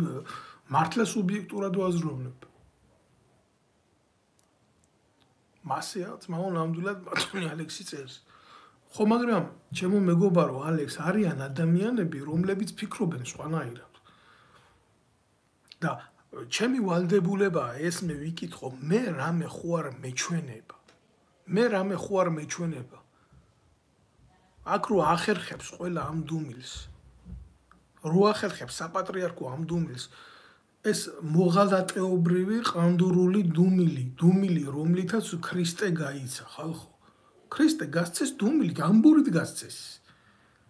მართლა სუბიექტურად ვაზროვნებ. მასეა ძმაო ნამდვილად ბატონი ალექსი წერს. ხო, მაგრამ ჩემო მეგობარო ალექს, არიან ადამიანები, რომლებიც ფიქრობენ სხვანაირად. და ჩემი ვალდებულებაა ეს მე ვიკითხო, მე რამე ხო არ მეჩვენება. აქ რო ახერხებს ყველა ამ დუმილს. რო ახერხებს საპატრიარქო ამ დუმილს, ეს მოღალატეობრივი ყანდურული დუმილი, რომლითაც ქრისტე გაიცა, ხალხო. ქრისტე გასცეს დუმილით, ამბურით გასცეს.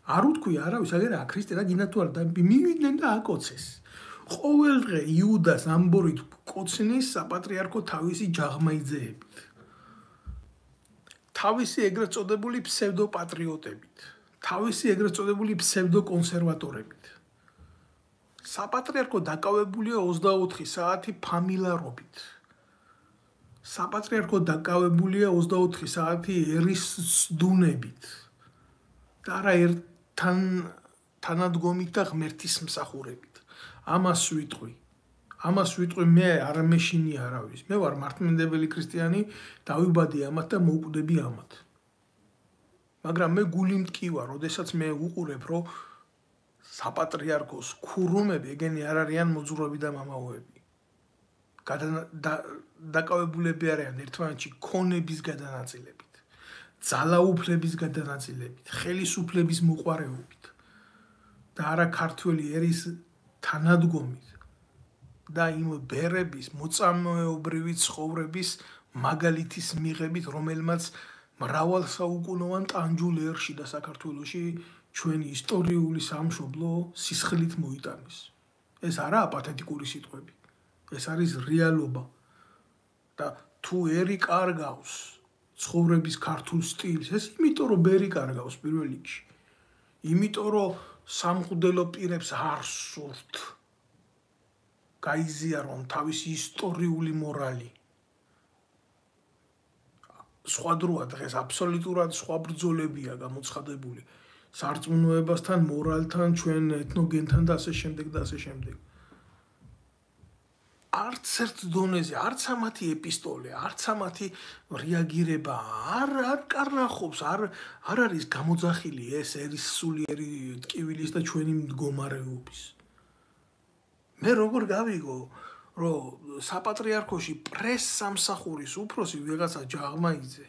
არ უთქვი არავის, აგერა ქრისტე რა გინდა თუ არა და მივიდნენ და აკოცეს. ყოველ დღე იუდას ამბურით კოცნის საპატრიარქო თავისი ჯაღმაიძეებით. თავისი ეგრეთ წოდებული ფსევდოპატრიოტებით, თავისი ეგრეთ წოდებული ფსევდოკონსერვატორებით. საპატრიარქო დაკავებულია 24 საათი ფამილარობით. საპატრიარქო დაკავებულია 24 საათი ერის სდუნებით. და არა თანადგომით და ღმერთის მსახურებით. ამას ვიტყვი მე არ მეშინი არავის. მე ვარ მართლმადიდებელი ქრისტიანი, დავიბადე ამათ და მოვკვდები ამათ. მაგრამ მე გული მტკივა, როდესაც მე უყურებ, რომ საპატრიარქოს ქურუმები ეგენი არ არიან მოძღვრები და მამაოები. დაკავებულები არიან ერთმანეთში ქონების გადანაწილებით, ძალაუფლების გადანაწილებით, ხელისუფლების მოყვარეობით და არა ქართველი ერის თანადგომით და იმ ბერების მოწამეობრივი ცხოვრების მაგალითის მიღებით, რომელმაც მრავალსაუკუნოვან ტანჯულ ერში და საქართველოში ჩვენი ისტორიული სამშობლო სისხლით მოიტანეს. ეს არაა პათეტიკური სიტყვები. ეს არის რეალობა. და თუ ერი კარგავს ცხოვრების ქართულ სტილს, ეს იმიტომ რომ ბერი კარგავს პირველ რიგში. იმიტომ რომ სამღვდელო პირებს არ სურთ. გაიზიარონ თავისი ისტორიული მორალი. სხვა დროა დღეს აბსოლუტურად სხვა ბრძოლებია გამოცხადებული სარწმუნოებასთან, მორალთან, ჩვენ ეთნოგენთან და ასე შემდეგ და ასე შემდეგ. არც ერთ დონეზე, არც ამათი ეპისტოლე, არც ამათი რეაგირება არ კარნახობს, არ არის გამოძახილი ეს ერის სულიერი ტკივილის და ჩვენი მდგომარეობის. მე როგორ გავიგო, რომ საპატრიარქოში პრეს-სამსახურის უფროსი ვიღაცა ჯაღმაიძე,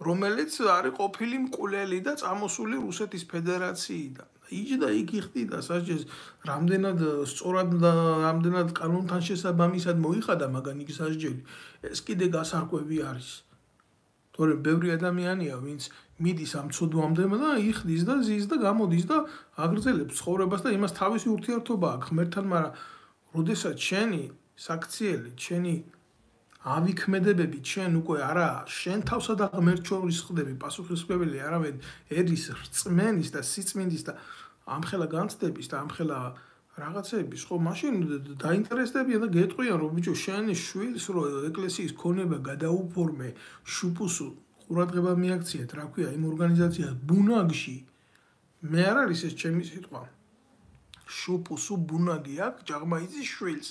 რომელიც არის ყოფილი მკვლელი და წამოსული რუსეთის ფედერაციიდან. იჯდა იქ იხდიდა სასჯელს, რამდენად სწორად და რამდენად კანონთან შესაბამისად მოიხადა მაგან იქ სასჯელი. ეს კიდე გასარკვევი არის. თორემ ბევრი ადამიანია, ვინც მიდის ამ ცოდვამდე და იხდის და ზის და გამოდის და აგრძელებს ცხოვრებას და იმას თავისი ურთიერთობა აქვს ღმერთთან, მაგრამ როდესაც შენი საქციელი, შენი ავიქმედებები, შენ უკვე არა შენ თავსა და ღმერთ შორის ხდები პასუხისმგებელი, არამედ ერის რწმენის და სიწმინდის და ამხელა განცდების და ამხელა რაღაცების, ხო, მაშინ დაინტერესდებიან და გეტყვიან, რომ ბიჭო, შენი შვილს რო ეკლესიის ქონება გადაუფორმე შუპუსუ ყურადღება მიაქციეთ, რა ქვია, იმ ორგანიზაციას ბუნაგში. მე არ არის ეს ჩემი სიტყვა. შუპუსუ ბუნაგი აქვს ჯაღმაიძის შვილს,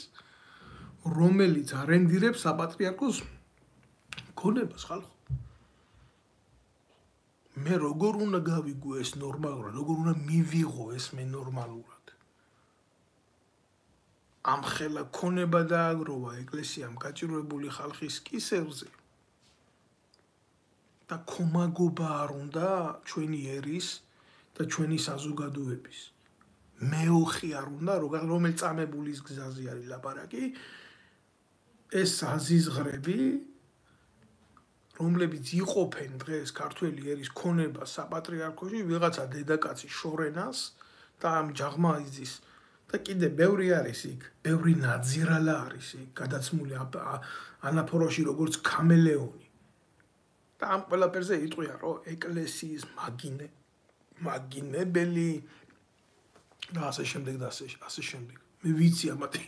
რომელიც არენდირებს საპატრიარქოს ქონებას ხალხო. მე როგორ უნდა გავიგო ეს ნორმალურად, როგორ უნდა მივიღო ეს მე ნორმალურად. ამხელა ქონება დააგროვა ეკლესიამ გაჭირვებული ხალხის კისერზე და ქომაგობა არ უნდა ჩვენი ერის და ჩვენი საზოგადოების. მეოხი არ უნდა, რომელიც წამებულის გზაზე არის ლაპარაკი, ეს აზიზღრები, რომლებიც იყოფენ დღეს ქართველი ერის ქონებას საპატრიარქოში, ვიღაცა დედაკაცი შორენას და ამ ჯაღმაიძის და კიდე ბევრი არის იქ, ბევრი ნაძირალა არის იქ, გადაცმული ანაფოროში როგორც ქამელეონი. და ამ ყველაფერზე იტყვიან, რომ ეკლესიის მაგინებელი და ასე შემდეგ და ასე შემდეგ. მე ვიცი ამათი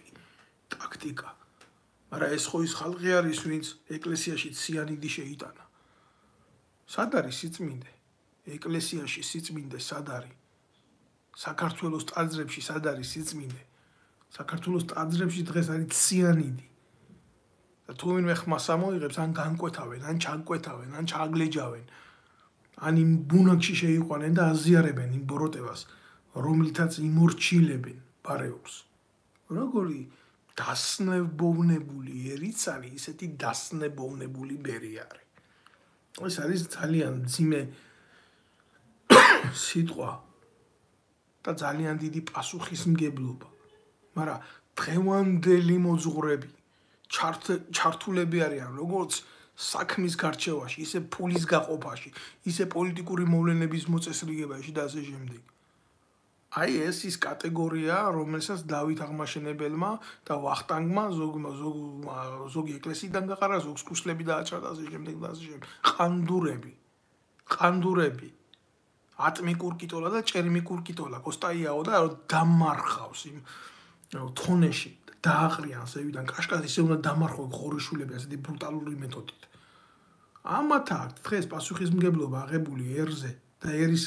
ტაქტიკა. მაგრამ ეს ხო ის ხალხი არის, ვინც ეკლესიაში ციანიდი შეიტანა. სად არის სიწმინდე? ეკლესიაში სიწმინდე სად არის? საქართველოს ტაძრებში სად არის სიწმინდე? საქართველოს ტაძრებში დღეს არის ციანიდი. და თუ ვინმე ხმას ამოიღებს, ან განკვეთავენ, ან ჩაგკვეთავენ, ან ჩააგლეჯავენ, ან იმ ბუნაგში შეიყვანენ და აზიარებენ იმ ბოროტებას, რომლითაც იმორჩილებენ ბარეობს. როგორი დასნებოვნებული ერიც არის, ისეთი დასნებოვნებული ბერი არის. ეს არის ძალიან ძიმე სიტყვა და ძალიან დიდი პასუხისმგებლობა. მაგრამ დღევანდელი მოძღვრები ჩართულები არიან როგორც საქმის გარჩევაში, ისე ფულის გაყოფაში, ისე პოლიტიკური მოვლენების მოწესრიგებაში და ასე შემდეგ. აი ეს ის კატეგორია, რომელსაც დავით აღმაშენებელმა და ვახტანგმა ზოგი ეკლესიიდან გაყარა, ზოგს ქუსლები დააჭრა და ასე შემდეგ და ასე შემდეგ. ყანდურები. ატმიკურ კიტოლა და ჭერმიკურ კიტოლა, კოსტაიაო და დამარხავს იმ თონეში, დააყრიან ზევიდან, კაშკას ისე უნდა დამარხო ხორიშულები ასეთი ბრუტალური მეთოდით. ამათ აქვს დღეს პასუხისმგებლობა აღებული ერზე და ერის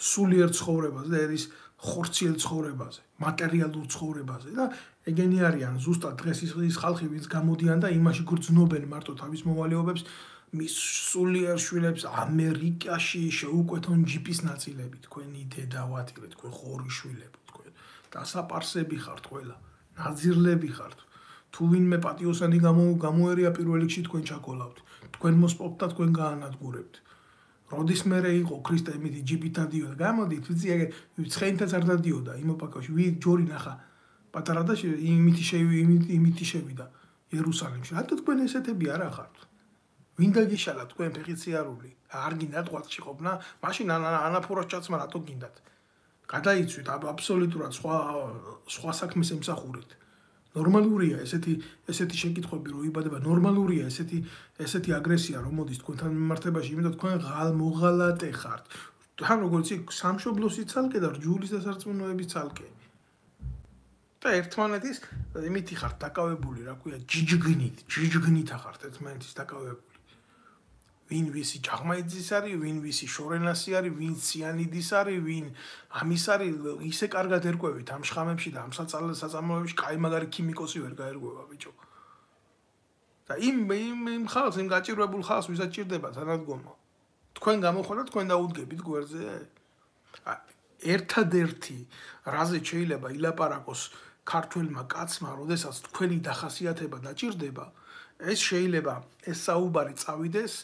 სულიერ ცხოვრებაზე და ერის ხორციელ ცხოვრებაზე, მატერიალურ ცხოვრებაზე და ეგენი არიან ზუსტად დღეს ის ხალხი, ვინც გამოდიან და იმაში გრძნობენ მარტო თავის მოვალეობებს, მის სულიერ შვილებს ამერიკაში შეუკვეთონ ჯიპის ნაწილები, თქვენი დედავატირე, თქვენ ხორიშვილები, თქვენ დასაპარსები ხართ ყველა, ნაძირლები ხართ. თუ ვინმე პატიოსანი გამოერია პირველ რიგში თქვენ ჩაკოლავთ, თქვენ მოსპობთ და თქვენ გაანადგურებთ. როდის მერე იყო ქრისტე იმითი ჯიპით დადიოდა, გამოდით, ვიცი ეგ ცხენითაც არ დადიოდა იმ ოპაკაში, ჯორი ნახა პატარა და იმითი შევიდა იერუსალიმში. რატო თქვენ ესეთები არა ხართ? ვინ დაგიშალა თქვენ ფეხიციარული? არ გინდათ ყვაცხში ყოფნა? მაშინ ანაფოროს ჩაცმა რატო გინდათ? გადაიცვით აბსოლუტურად სხვა საქმეს ემსახურეთ. ნორმალურია ესეთი შეკითხვები რო იბადება, ნორმალურია ესეთი აგრესია რომ მოდის თქვენთან მიმართებაში, იმიტომ თქვენ მოღალატე ხართ. თან როგორც იქ სამშობლოსი ცალკე და რჯულის დასარწმუნოების ცალკე. და ერთმანეთის იმითი ხართ დაკავებული, რა ქვია, ჯიჯგნით ახართ ერთმანეთის დაკავებული. ვინ ვისი ჭაღმაიძის არის, ვინ ვისი შორენასი არის, ვინ სიანიდის არის, ვინ ამის არის, ისე კარგად ერკვევით ამ შხამებში და ამ საწარმოებში, კაი მაგარი ქიმიკოსი ვერ გაერკვევა ბიჭო. და იმ ხალხს, იმ გაჭირვებულ ხალხს ვისაც ჭირდება თანადგომა. თქვენ გამოხვალთ, თქვენ დაუდგებით გვერდზე? ერთადერთი რაზე შეიძლება ილაპარაკოს ქართველმა კაცმა, როდესაც თქვენი დახასიათება დაჭირდება, ეს შეიძლება ეს საუბარი წავიდეს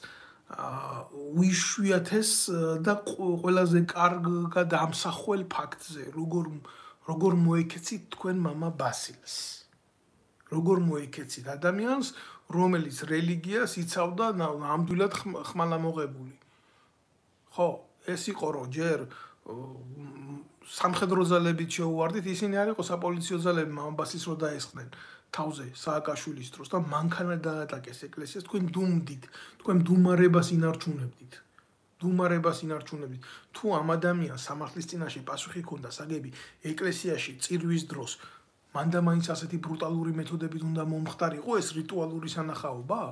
უიშვიათეს და ყველაზე კარგად ამსახველ ფაქტზე, როგორ მოეკეცით თქვენ მამა ბასილს. როგორ მოეკეცით ადამიანს, რომელიც რელიგიას იცავდა ნამდვილად ხმალამოღებული. ხო, ეს იყო რომ ჯერ სამხედრო ძალებით შეუვარდით, ისინი არ იყო საპოლიციო ძალები მამა ბასილს რო დაესხნენ თავზე სააკაშვილის დროს და მანქანა დაატაკეს ეკლესიას, თქვენ დუმდით, თქვენ დუმარებას ინარჩუნებდით. თუ ამ ადამიანს სამართლის წინაშე პასუხი ჰქონდა საგები ეკლესიაში წირვის დროს, მანდა მაინც ასეთი ბრუტალური მეთოდებით უნდა მომხდარიყო ეს რიტუალური სანახაობა?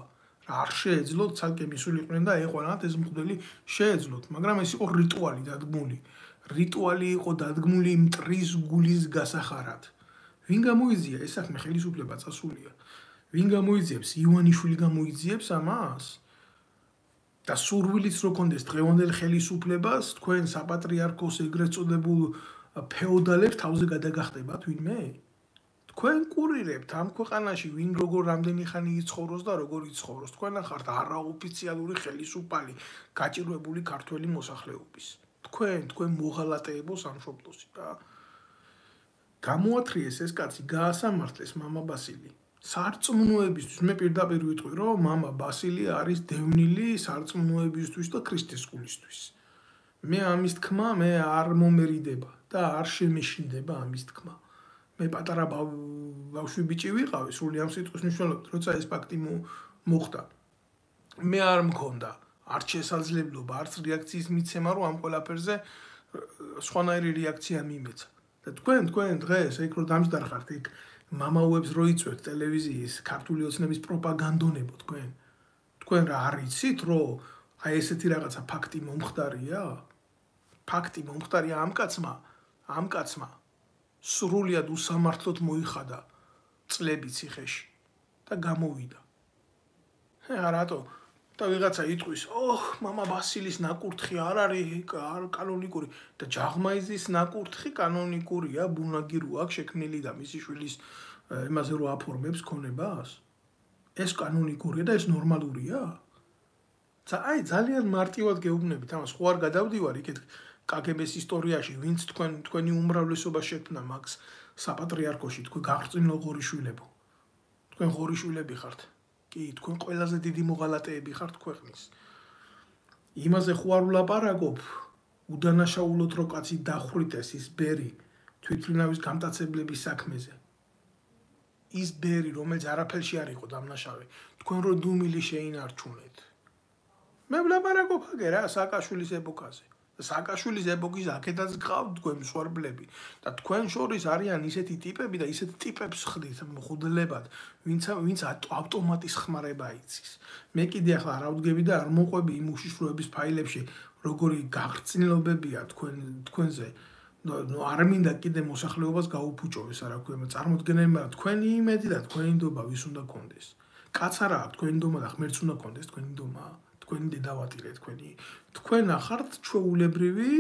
არ შეეძლოთ ცალკე მისულიყვნენ და ეყოლათ ეს მღვდელი შეეძლოთ, მაგრამ ეს იყო რიტუალი დადგმული. რიტუალი იყო დადგმული მტრის გულის გასახარად. ვინ გამოიძია ეს საქმე ხელისუფლება წასულია? ვინ გამოიძიებს? ივანიშვილი გამოიძიებს ამას? და სურვილიც რო კონდეს დღევანდელ ხელისუფლებას, თქვენ საპატრიარქოს ეგრეთ წოდებულ ფეოდალებს თავზე გადაგახტებათ ვინმე? თქვენ კურირებთ ამ ქვეყანაში ვინ როგორ რამდენი ხანი იცხოვროს და როგორ იცხოვროს. თქვენ ახართ არაოფიციალური ხელისუფალი გაჭირვებული ქართველი მოსახლეობის. თქვენ მოღალატეებო სამშობლოსი და გამოათრიეს ეს კაცი, გაასამართლეს მამა ბასილი. სარწმუნოებისთვის მე პირდაპირ ვიტყვი, რომ მამა ბასილი არის დევნილი სარწმუნოებისთვის და ქრისტესკულისთვის. მე ამის თქმა მე არ მომერიდება და არ შემეშინდება ამის თქმა. მე პატარა ბავშვი ბიჭი ვიყავი, სული ამ სიტყვის მნიშვნელობით, როცა ეს ფაქტი მოხდა. მე არ მქონდა არც შესაძლებლობა, არც რეაქციის მიცემა, რომ ამ ყველაფერზე სხვანაირი რეაქცია მიმეცა. და თქვენ დღეს ეგ რო დამჯდარხართ, იქ მამაუებს რო იწვევთ ტელევიზიის ქართული ოცნების პროპაგანდონებო თქვენ რა არიცით, რომ აი ესეთი რაღაცა ფაქტი მომხდარია? ფაქტი მომხდარია ამ კაცმა სრულიად უსამართლოდ მოიხადა წლები ციხეში და გამოვიდა. რატო? და ვიღაცა იტყვის, მამა ბასილის ნაკურთხი არ არის კანონიკური და ჯაღმაიზის ნაკურთხი კანონიკურია, ბუნაგირო აქვს შექმნილი და მისი შვილის იმაზე რო აფორმებს ქონებას? ეს კანონიკურია და ეს ნორმალურია? აი ძალიან მარტივად გეუბნებით ამას, ხო არ გადავდივარ იქეთ კგბ-ს ისტორიაში, ვინც თქვენი უმრავლესობა შექმნა მაგს საპატრიარქოში, თქვენ გახრწნილ ღორიშვილებო. თქვენ ღორიშვილები ხართ. კი, თქვენ ყველაზე დიდი მოღალატეები ხართ ქვეყნის. იმაზე ხო არ ვლაპარაკობ, უდანაშაულოდ რო კაცი დახვრიტეს ის ბერი თვითმფრინავის გამტაცებლების საქმეზე. ის ბერი, რომელიც არაფერში არ იყო დამნაშავე, თქვენ რო დუმილი შეინარჩუნეთ. მე ვლაპარაკობ აგე რა სააკაშვილის ეპოქაზე. სააკაშვილის ეპოქის აქედაც გყავთ თქვენ მსხვერპლები და თქვენ შორის არიან ისეთი ტიპები და ისეთ ტიპებს ხდით მღვდლებად, ვინც ავტომატის ხმარება იცის. მე კიდე ახლა არ ავდგები და არ მოყვები იმ უშიშროების ფაილებში, როგორი გახრწნილობებია თქვენზე. არ მინდა კიდე მოსახლეობას გაუფუჭოს, არა ქვია, წარმოდგენები, თქვენი იმედი და თქვენი ნდობა ვის უნდა კონდეს. კაც არა აქვს თქვენი ნდობა და ღმერთს უნდა კონდეს თქვენი ნდობა. თქვენი დედავატირე თქვენ ახართ ჩვეულებრივი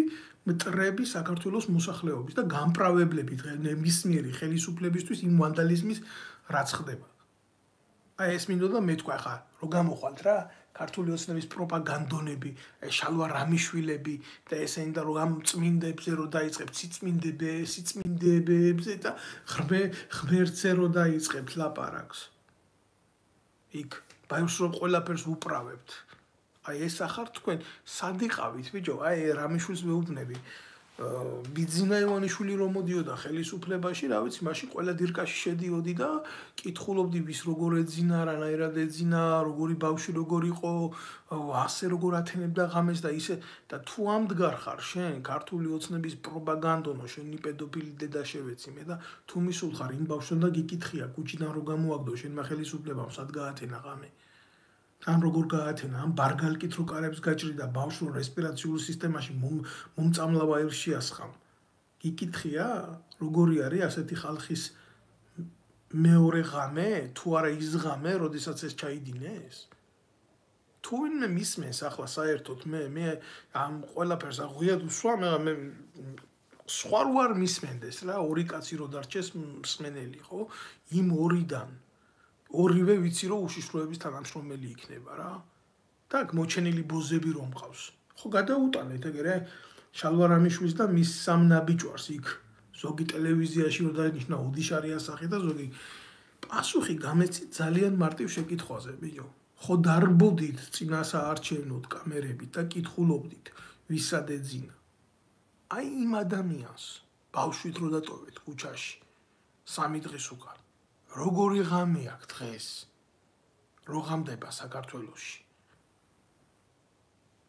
მტრები საქართველოს მოსახლეობის და გამправებლები ნებისმიერი ხელისუფლებისთვის იმ ვანდალიზმის რაც ხდება. აი ეს მინდოდა მე თქვა ხა რო გამოხვალთ რა ქართული ოცნების პროპაგანდონები, შალვა რამიშვილები და ესენი და რომ ამ წმინდებზე რო დაიწყებთ სიწმინდებებზე და ღმერთზე რო დაიწყებთ ლაპარაკს. იქ ბაიოს რო ყველაფერს უправებთ. აი ეს ახარ თქვენ სად იყავით ბიჭო? აი რამიშვილს მეუბნები. ბიძინა ივანიშვილი რომ მოდიოდა ხელისუფლებაში, რა ვიცი, მაშინ ყველა დირკაში შედიოდი და კითხულობდი ვის როგორ ეძინა, რანაირად ეძინა, როგორი ბავშვი როგორ იყო, ასე როგორ ათენებდა ღამეს და ისე და თუ ამდგარ ხარ შენ ქართული ოცნების პროპაგანდონო, შენი პედოფილი დედა შევეციმე და თუ მისულ ხარ იმ ბავშვთან და გიკითხია კუჩიდან რო გამოაგდო შენმა ხელისუფლებამ სად გაათენა ღამე. ან როგორ გაათენა, ან ბარგალკით რო კარებს გაჭრიდა ბავშვს რო რესპირაციული სისტემაში მომწამლავ აირში ასხამ. გიკითხია, როგორი არის ასეთი ხალხის მეორე ღამე, თუ არა ის ღამე, როდესაც ეს ჩაიდინეს? თუ ვინმე მისმენს ახლა საერთოდ მე ამ ყველაფერს აღვიად უსვამ, მე სხვა არ მისმენდეს რა, ორი კაცი რო დარჩეს მსმენელი, ხო? იმ ორიდან ორივე ვიცი რომ უშიშროების თანამშრომელი იქნება რა. Так, მოჩენილი ბოზები რომ მყავს. ხო გადაუტანეთ ეგრე შალვარამიშვილს და მის სამ ნაბიჯვარს იქ ზოგი ტელევიზიაში რო დაინიშნა უდიშარი ასახი და ზოგი პასუხი გამეცით ძალიან მარტივ შეკითხვაზე, ბიჭო. ხო დარბოდით წინასაარჩევნოდ კამერებით და კითხულობდით ვისად ეძინა. აი იმ ადამიანს ბავშვით რო დატოვეთ ქუჩაში 3 დღის უკან. როგორი ღამე აქვს დღეს? რო ღამდება საქართველოში.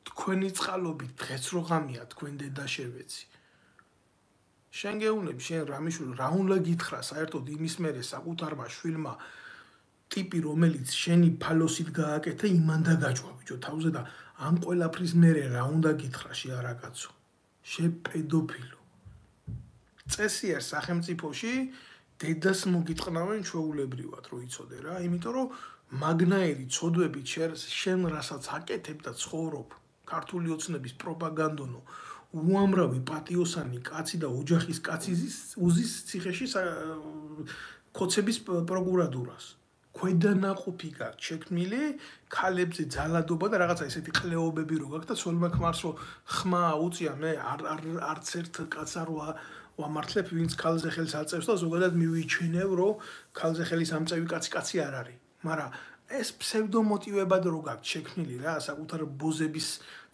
თქვენი წყალობით დღეს რო ღამეა თქვენ დედა შევეცი. შენ გეუბნები შენ რამიშვილი რა უნდა გითხრა საერთოდ იმის მერე საკუთარმა შვილმა ტიპი რომელიც შენი ფალოსით გააკეთა იმანდა გაჯვა ბიჭო თავზე და ამ ყველაფრის მერე რა უნდა გითხრა შეარაკაცო. შე პედოფილო. წესია სახელმწიფოში დედას მოგიტყნავენ ჩვეულებრივად რო იცოდე რა, იმიტომ რომ მაგნაირი ცოდვებით შენ რასაც აკეთებ და ცხოვრობ ქართული ოცნების პროპაგანდონო უამრავი პატიოსანი კაცი და ოჯახის კაცი უზის ციხეში ქოცების პროკურატურას. ქვედანაყოფი გაქვს შექმნილი, ქალებზე ძალადობა და რაღაცა ესეთი ყლეობები რო გაქვს და ცოლმა ქმარს რო ხმა უწია მე არც ერთ კაცს არ ვამართლებ ვინც ქალზე ხელს აწევს და ზოგადად მივიჩვენებ რომ ქალზე ხელის ამწევი კაცი არ არის. მაგრამ ეს ფსევდომოტივებად რო გაქვს შექმნილი რა, საკუთარ ბოზების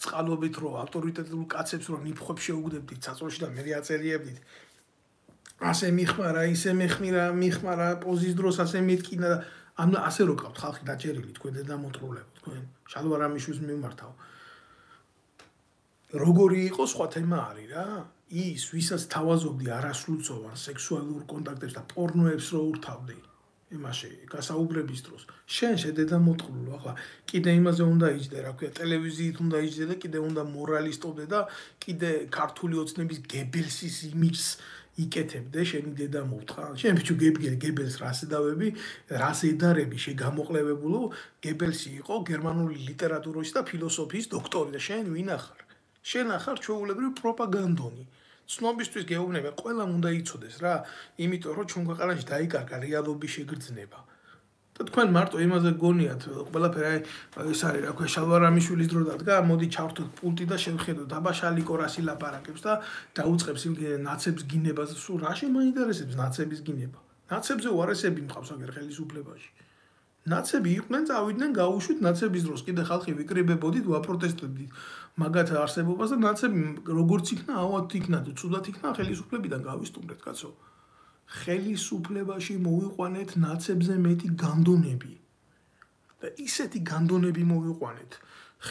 წყალობით რო ავტორიტეტულ კაცებს რო ნიფხვებს შეუგდებდით საწოლში და მე აწერიებდით. ასე მიხმარა, ისე მიხმარა პოზის დროს ასე მეტკინა და ასე რო ყავთ ხალხი დაჭერილი თქვენ დედამოწრულებო თქვენ შალვარამიშვილს მიმართავ. როგორი იყო სხვა თემა არის რა. ის ვისაც თავაზობდი არასრულწლოვან სექსუალურ კონტაქტებს და პორნოებს რო ურთავდი იმაში გასაუბრების დროს შენ შედედამოწრულო ახლა კიდე იმაზე უნდა იჯდე რა ქვია ტელევიზიით უნდა იჯდე და კიდე უნდა მორალისტობდე და კიდე ქართული ოცნების გებელსის იმიჯს იკეთებდე შენი დედა მოვთხა შენ ბიჭო გებელს რას ედავები რას ედარები შეგამოყლებებულო გებელსი იყო გერმანული ლიტერატურის და ფილოსოფიის დოქტორი და შენ ვინ ახარ შენ ახარ ჩვეულებრივი პროპაგანდონი ცნობისთვის გეუბნები ყველამ უნდა იცოდეს რა იმიტომ რომ ჩვენ ქვეყანაში დაიკარგა რეალობის შეგრძნება და თქვენ მარტო იმაზე გონიათ ყველაფერი ეს არის რა ქვია შალვარამიშვილის დრო დადგა მოდი ჩავრთოთ პულტი და შევხედოთ აბა შალიკო რას ილაპარაკებს და დაუწყებს იმ ნაცებს გინებას სულ რა შემაინტერესებს ნაცების გინება ნაცებზე უარესები მყავს აგერ ხელისუფლებაში ნაცები იყვნენ წავიდნენ გაუშვით ნაცების დროს კიდე ხალხი ვიკრიბებოდით ვაპროტესტებდით მაგათ არსებობას და ნაცები როგორც იქნა ავად იქნა თუ ცუდად იქნა ხელისუფლებიდან გავისტუმრეთ კაცო ხელისუფლებაში მოვიყვანეთ ნაცებზე მეტი განდონები და ისეთი განდონები მოვიყვანეთ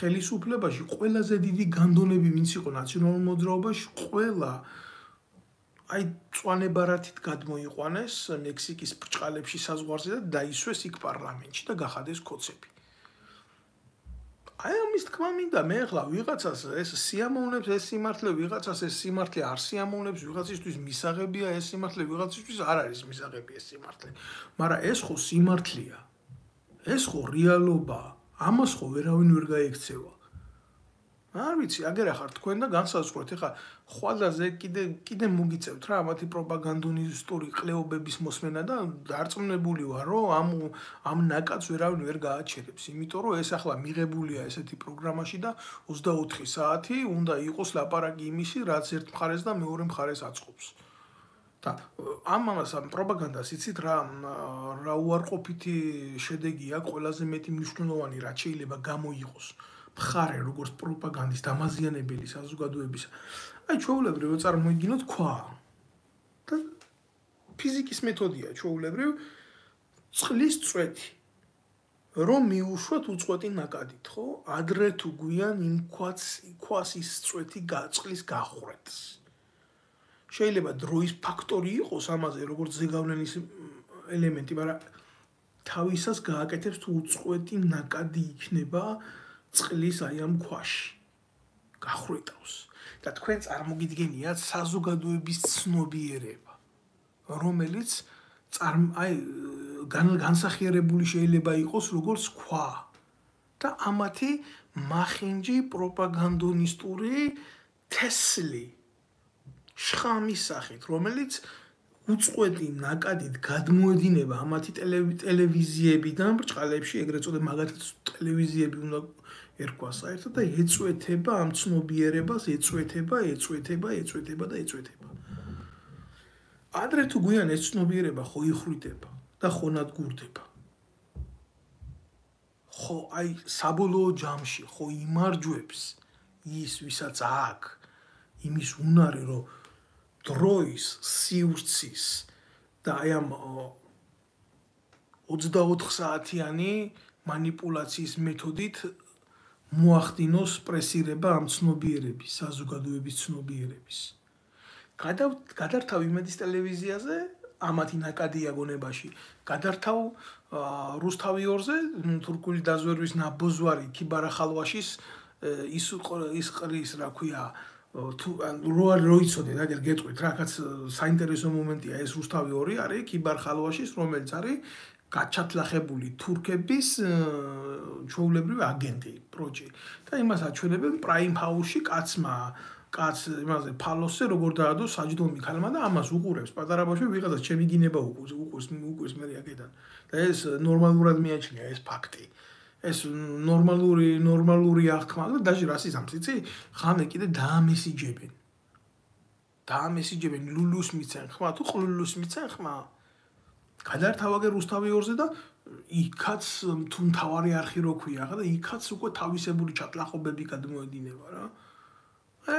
ხელისუფლებაში ყველაზე დიდი განდონები ვინც იყო ნაციონალურ მოძრაობაში ყველა აი წვანე ბარათით გადმოიყვანეს მექსიკის ბრჭყალებში საზღვარზე და დაისვეს იქ პარლამენტში და გახადეს ქოცები აი ამის თქმა მინდა მე ახლა ვიღაცას ეს სიამოვნებს ეს სიმართლე ვიღაცას ეს სიმართლე არ სიამოვნებს ვიღაცისთვის მისაღებია ეს სიმართლე ვიღაცისთვის არ არის მისაღები ეს სიმართლე მაგრამ ეს ხო სიმართლეა ეს ხო რეალობაა ამას ხო ვერავინ ვერ გაიქცევა არ ვიცი აგერ ახარ თქვენ და განსაზღვრეთ ეხა ხვალაზე კიდე მოგიწევთ რა ამათი პროპაგანდონისტური ყლეობების მოსმენა და დარწმუნებული ვარ რომ ამ ნაკადს ვერავინ ვერ გააჩერებს იმიტომ რომ ეს ახლა მიღებულია ესეთი პროგრამაში და 24 საათი უნდა იყოს ლაპარაკი იმისი რაც ერთ მხარეს და მეორე მხარეს აწყობს და ამას ამ პროპაგანდას იცით რა უარყოფითი შედეგი აქვს ყველაზე მეტი მნიშვნელოვანი რაც შეიძლება გამოიღოს მხარე როგორც პროპაგანდის დამაზიანებელი საზოგადოებისა აი ჩვეულებრივ წარმოიდგინოთ ქვა. და ფიზიკის მეთოდია ჩვეულებრივ წყლის წვეთი. რომ მიუშვათ უწყვეტი ნაკადით, ხო? ადრე თუ გვიან იმ ქვას ის წვეთი წყლის გახვრეთს. შეიძლება დროის ფაქტორი იყოს ამაზე, როგორც ზეგავლენის ელემენტი, მაგრამ თავისას გააკეთებს თუ უწყვეტი ნაკადი იქნება წყლის აი ამ ქვაში. გახვრეთავს. და თქვენ წარმოგიდგენიათ საზოგადოების ცნობიერება, რომელიც განსახიერებული შეიძლება იყოს როგორც ქვა და ამათი მახინჯი პროპაგანდონისტური თესლი შხამის სახით, რომელიც უწყვეტი ნაკადით გადმოედინება ამათი ტელევიზიებიდან ბრჭყალებში, ეგრეთ წოდებული მაგათაც ტელევიზიები უნდა ერქვას საერთოდ და ეწვეთება ამ ცნობიერებას, ეწვეთება და ეწვეთება. ადრე თუ გვიან ეს ცნობიერება ხო იხვრიტება და ხო ნადგურდება. ხო აი საბოლოო ჯამში ხო იმარჯვებს ის ვისაც აქვს იმის უნარი რომ დროის სივრცის და აი ამ 24 საათიანი манипуляციის მეთოდით მოახდინოს პრესირება ამ ცნობიერების, საზოგადოების ცნობიერების. გადართავ იმედის ტელევიზიაზე, ამათი ნაკადია გონებაში. გადართავ რუსთავი 2-ზე, თურქული დაზვერვის ნაბოძვარი ქიბარახალვაშის ის ყრის, რა ქვია, თუ რო იცოდეთ, აგერ გეტყვით, რაკაც საინტერესო მომენტია, ეს რუსთავი 2 არის ქიბარახალვაშის, რომელიც არის გაჩათლახებული თურქების ჩვეულებრივი აგენტი, პროჭი. და იმას აჩვენებენ პრაიმ ჰაუსში კაც იმაზე ფალოსზე როგორ დაადო საჯდომი ქალმა და ამას უყურებს პატარა ბავშვი ვიღაცას ჩემი გინება უყურს მე აქედან. და ეს ნორმალურად მიაჩნია ეს ფაქტი. ეს ნორმალური აღქმა და დაჟე რას იზამს იცი? ხანე კიდე დაამესიჯებენ ლულუს მიცენ ხმა თუ ყლულუს მიცენ ხმა. გადართავაგე რუსთავი 2-ზე და იქაც თუ მთავარი არხი რო ქვია ხა და იქაც უკვე თავისებური ჩატლახობები გადმოედინება რა.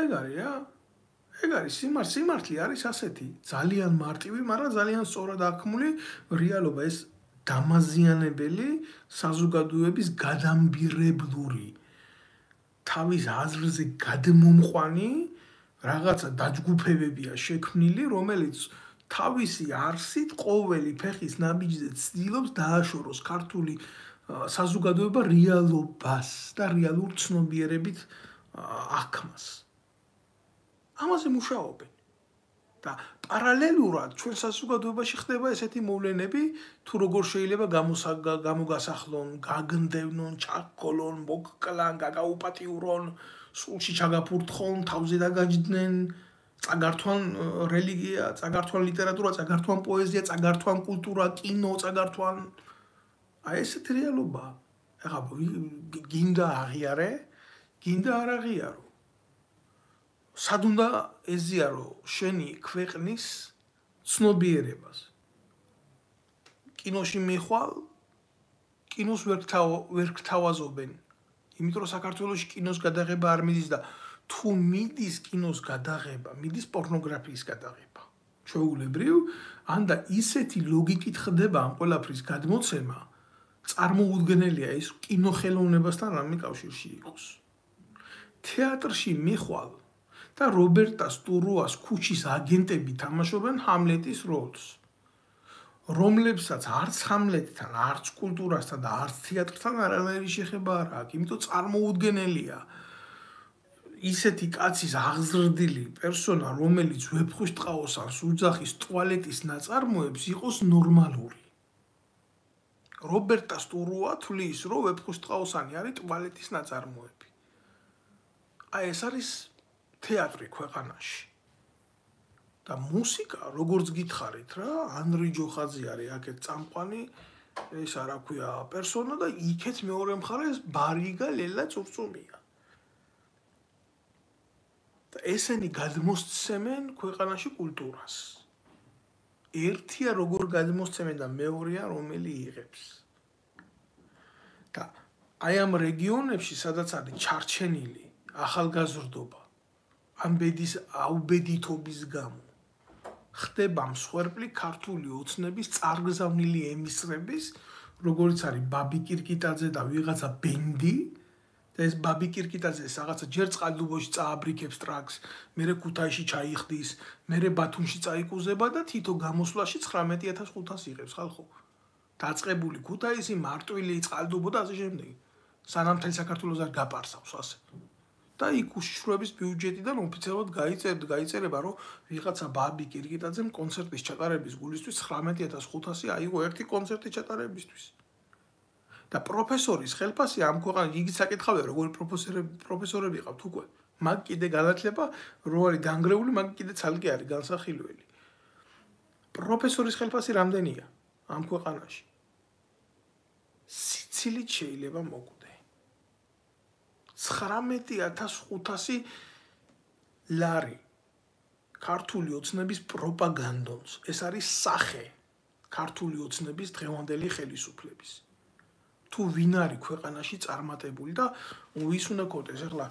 ეგ არის რა. ეგ არის სიმართლე არის ასეთი. ძალიან მარტივი, მაგრამ ძალიან სწორად აღქმული რეალობა ეს დამაზიანებელი საზოგადოების გადამბირებლური თავის აზრზე გადმომყვანი რაღაცა დაჯგუფებებია შექმნილი, რომელიც თავისი არსით ყოველი ფეხის ნაბიჯზე ცდილობს დააშოროს ქართული საზოგადოება რეალობას და რეალურ ცნობიერებით აღქმას. ამაზე მუშაობენ. და პარალელურად ჩვენ საზოგადოებაში ხდება ესეთი მოვლენები, თუ როგორ შეიძლება გამოგასახლონ, გაგნდევნონ, ჩაგკოლონ, მოგკლან, გაგაუპატიურონ, სულში ჩაგაფურთხონ, თავზე დაგაჯდნენ, წაგართვან რელიგია, წაგართვან ლიტერატურა, წაგართვან პოეზია, წაგართვან კულტურა, კინო, წაგართვან აი ესეთი რეალობა. ეხლა გინდა აღიარე, გინდა არ აღიარო. სად უნდა ეზიარო შენი ქვეყნის ცნობიერებას. კინოში მიხვალ, კინოს ვერ გთავაზობენ. იმიტომ რომ საქართველოში კინოს გადაღება არ მიდის და თუ მიდის კინოს გადაღება, მიდის პორნოგრაფიის გადაღება. ჩვეულებრივ, ანდა ისეთი ლოგიკით ხდება ამ ყველაფრის გადმოცემა, წარმოუდგენელია ის კინოხელოვნებასთან რამე კავშირში იყოს. თეატრში მიხვალ და რობერტა სტურუას ქუჩის აგენტები თამაშობენ ჰამლეტის როლს, რომლებსაც არც ჰამლეტთან, არც კულტურასთან და არც თეატრთან არანაირი შეხება არ აქვს, იმიტომ წარმოუდგენელია ისეთი კაცის აღზრდილი პერსონა, რომელიც ვეფხვის ტყაოსანს უძახის ტუალეტის ნაწარმოებს იყოს ნორმალური. რობერტა სტურუა თვლის, რომ ვეფხვის ტყაოსანი არის ტუალეტის ნაწარმოები. აი ეს არის თეატრი ქვეყანაში. და მუსიკა, როგორც გითხარით რა, ანრი ჯოხაძე არის აქეთ წამყვანი, ეს არა ქვია პერსონა და იქეთ მეორე მხარეს ბარიგა ლელა წურწუმია. და ესენი გადმოსცემენ ქვეყანაში კულტურას. ერთია როგორ გადმოსცემენ და მეორეა რომელი იღებს. და აი ამ რეგიონებში, სადაც არის ჩარჩენილი ახალგაზრდობა, ამ ბედის აუბედითობის გამო ხდება მსხვერპლი ქართული ოცნების წარგზავნილი ემისრების, როგორც არის ბაბი კირკიტაძე და ვიღაცა ბენდი, და ეს ბაბი კირკიტაძე რაღაცა ჯერ წყალდუბოში წააბრიქებს ტრაქს, მერე ქუთაისში ჩაიხდის, მერე ბათუმში წაიკუზება და თითო გამოსვლაში 19500 იღებს ხალხო. დაწყებული ქუთაისი, მარტვილი, წყალდუბო და ასე შემდეგ. სანამ მთელ საქართველოს არ გაპარსავს ასე. და იქ უშიშროების ბიუჯეტიდან ოფიციალურად გაიწერება, რომ ვიღაცა ბაბი კირკიტაძემ კონცერტის ჩატარების გულისთვის 19500 აიღო ერთი კონცერტი ჩატარებისთვის. და პროფესორის ხელფასი ამ ქვეყანაში იგი საკითხავია, როგორი პროფესორები ყავთ უკვე. მაგ კიდე განათლება რო არის განგრეული, მაგ კიდე ცალკე არის განსახილველი. პროფესორის ხელფასი რამდენია ამ ქვეყანაში? სიცილით შეიძლება მოგვდე. 19500 ლარი ქართული ოცნების პროპაგანდონს. ეს არის სახე ქართული ოცნების დღევანდელი ხელისუფლების. თუ ვინ არის ქვეყანაში წარმატებული და ვის უნდა გქონდეს, ახლა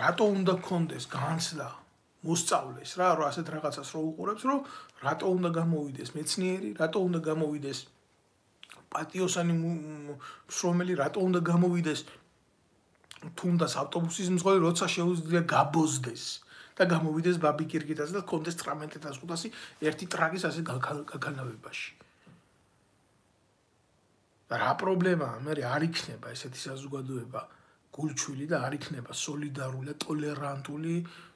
რატო უნდა გქონდეს განცდა მოსწავლეს რა, რომ ასეთ რაღაცას რო უყურებს, რომ რატო უნდა გამოვიდეს მეცნიერი, რატო უნდა გამოვიდეს პატიოსანი მშრომელი, რატო უნდა გამოვიდეს თუნდაც ავტობუსის მძღოლი, როცა შეუძლია გაბოზდეს და გამოვიდეს ბაბი კირკიტაძე და გქონდეს 19500 ერთი ტრაგის ასე გაგანავებაში. რა პრობლემაა? მე არ იქნება ესეთი საზოგადოება გულჩვილი და არ იქნება სოლიდარული და ტოლერანტული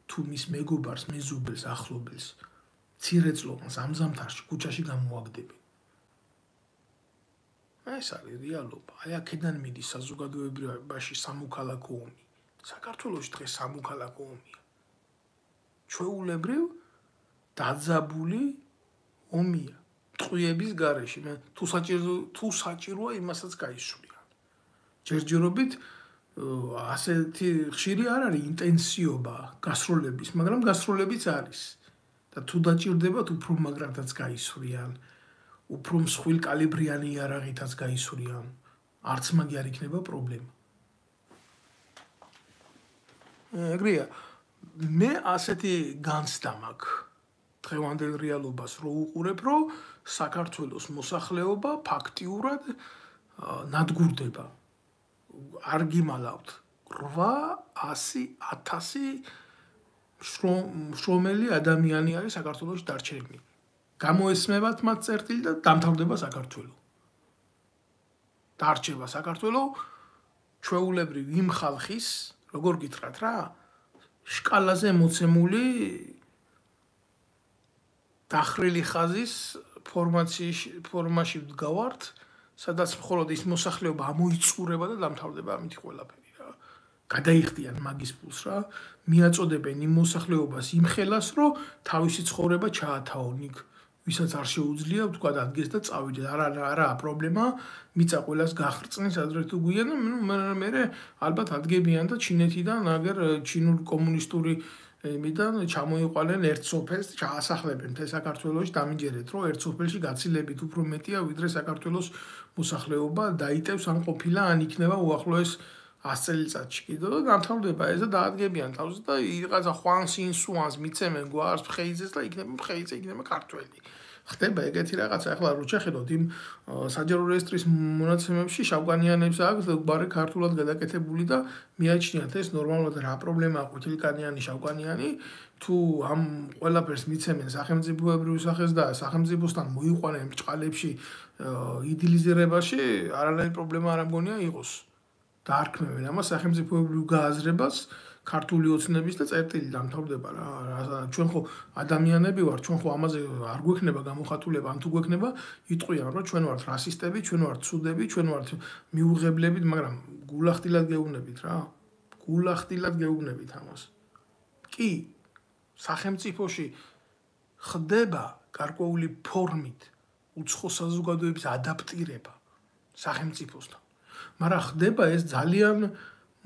თუ მის მეგობარს, მეზობელს, ახლობელს, ცირეწლოვანს ამ ზამთარში ქუჩაში გამოაგდებენ. ეს არის რეალობა. აი აქედან მიდის საზოგადოებაში სამოქალაქო ომი. საქართველოში დღეს სამოქალაქო ომია. ჩვეულებრივ დაძაბული ომია. ტყვიების გარეშე. თუ საჭიროა იმასაც გაისვრიან. ჯერჯერობით ასეთი ხშირი არ არის ინტენსიობა გასროლების, მაგრამ გასროლებიც არის. და თუ დაჭირდებათ უფრო მაგრადაც გაისვრიან. უფრო მსხვილ კალიბრიანი იარაღითაც გაისვრიან. არც მაგი არ იქნება პრობლემა. ეგრეა, მე ასეთი განცდა მაქვს დღევანდელ რეალობას რო უყურებ, რომ საქართველოს მოსახლეობა ფაქტიურად ნადგურდება. არ გიმალავთ 800,000 მშრომელი ადამიანი არის საქართველოში დარჩენილი. გამოესმევათ მათ წერტილი და დამთავრდება საქართველო. დარჩება საქართველო ჩვეულებრივ იმ ხალხის, როგორ გითხრათ რა, შკალაზე მოცემული დახრილი ხაზის ფორმაში ვდგავართ, სადაც მხოლოდ ის მოსახლეობა ამოიწურება და დამთავრდება ამითი ყველაფერი რა. გადაიხდიან მაგის ფულს რა, მიაწოდებენ იმ მოსახლეობას იმ ხელას, რომ თავისი ცხოვრება ჩაათაონ იქ. ვისაც არ შეუძლია თქვა ადგეს და წავიდეს. არა პრობლემა, მიწა ყველას გახრწნის ადრე თუ გვიან, მე ალბათ ადგებიან და ჩინეთიდან აგერ ჩინურ კომუნისტური მიდან ჩამოიყვანენ ერთ სოფელს, ჩაასახლებენ მთელ საქართველოში, დამიჯერეთ, რომ ერთ სოფელში გაცილებით უფრო მეტია, ვიდრე საქართველოს მოსახლეობა დაიტევს ან ყოფილა, ან იქნება უახლოეს 100 წელიწადში კიდევ და დამთავრდება ეს და დაადგებიან თავს და რაღაცა ხვანს ინსუანს მიცემენ გვარს მხეიძეს და იქნება მხეიძე, იქნება ქართველი. ხდება ეგეთი რაღაცა. ახლა რო შეხედოთ იმ საჯარო რეესტრის მონაცემებში შავკანიანებს აქვს ბარე ქართულად გადაკეთებული და მიაჩნიათ ეს ნორმალურად რა პრობლემაა ყვითელკანიანი, შავკანიანი, თუ ამ ყველაფერს მიცემენ სახელმწიფოებრივ სახეს და სახელმწიფოსთან მოიყვანენ ბრჭყალებში იდილიზირებაში, არანაირი პრობლემა არ მგონია იყოს. დაარქმევენ ამას სახელმწიფოებრივ გააზრებას ქართული ოცნების და წერტილი დამთავრდება რა. ჩვენ ხო ადამიანები ვართ, ჩვენ ხო ამაზე არ გვექნება გამოხატულება, ან თუ გვექნება, იტყვიან რომ ჩვენ ვართ რასისტები, ჩვენ ვართ ცუდები, ჩვენ ვართ მიუღებლები, მაგრამ გულახდილად გეუბნებით რა. გულახდილად გეუბნებით ამას. კი, სახელმწიფოში ხდება გარკვეული ფორმით უცხო საზოგადოების ადაპტირება სახელმწიფოსთან. მაგრამ ხდება ეს ძალიან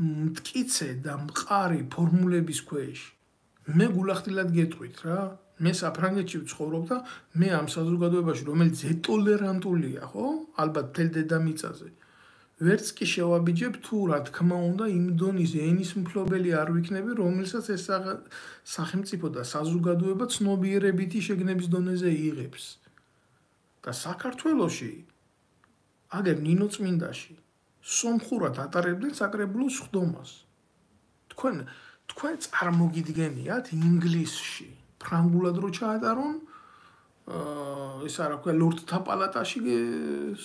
მტკიცე და მყარი ფორმულების ქვეშ. მე გულახდილად გეტყვით რა, მე საფრანგეთში ვცხოვრობ და მე ამ საზოგადოებაში, რომელიც ზეტოლერანტულია, ხო? ალბათ მთელ დედამიწაზე. ვერც კი შევაბიჯებ თუ რა თქმა უნდა იმ დონის ენის მფლობელი არ ვიქნები, რომელსაც ეს სახელმწიფო და საზოგადოება ცნობიერებითი შეგნების დონეზე იღებს. და საქართველოში აგერ ნინოწმინდაში სომხურად ატარებდნენ საკრებულოს სხდომას. თქვენ წარმოგიდგენიათ ინგლისში ფრანგულად რო ჩაატარონ ეს არა ქვია ლორდთა პალატაში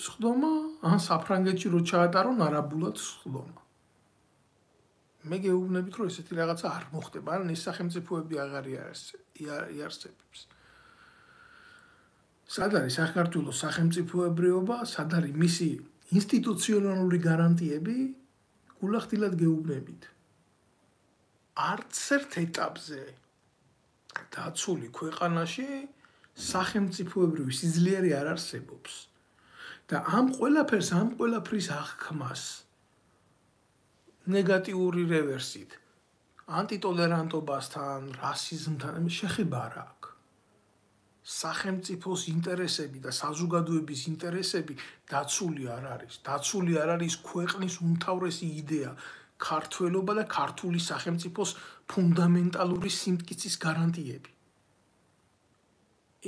სხდომა, ან საფრანგეთში რო ჩაატარონ არაბულად სხდომა. მე გეუბნებით რომ ესეთი რაღაცა არ მოხდება, ან ეს სახელმწიფოები აღარ იარსებებს. სად არის საქართველოს სახელმწიფოებრიობა, სად არის მისი ინსტიტუციონალური გარანტიები, გულახდილად გეუბნებით. არც ერთ ეტაპზე დაცული ქვეყანაში სახელმწიფოებრივი სიძლიერე არ არსებობს. და ამ ყველაფრის აღქმას ნეგატიური რევერსით, ანტიტოლერანტობასთან, რასიზმთან შეხება არ აქვს. სახელმწიფოს ინტერესები და საზოგადოების ინტერესები დაცული არ არის. დაცული არ არის ქვეყნის უმთავრესი იდეა, ქართველობა და ქართული სახელმწიფოს ფუნდამენტალური სიმტკიცის გარანტიები.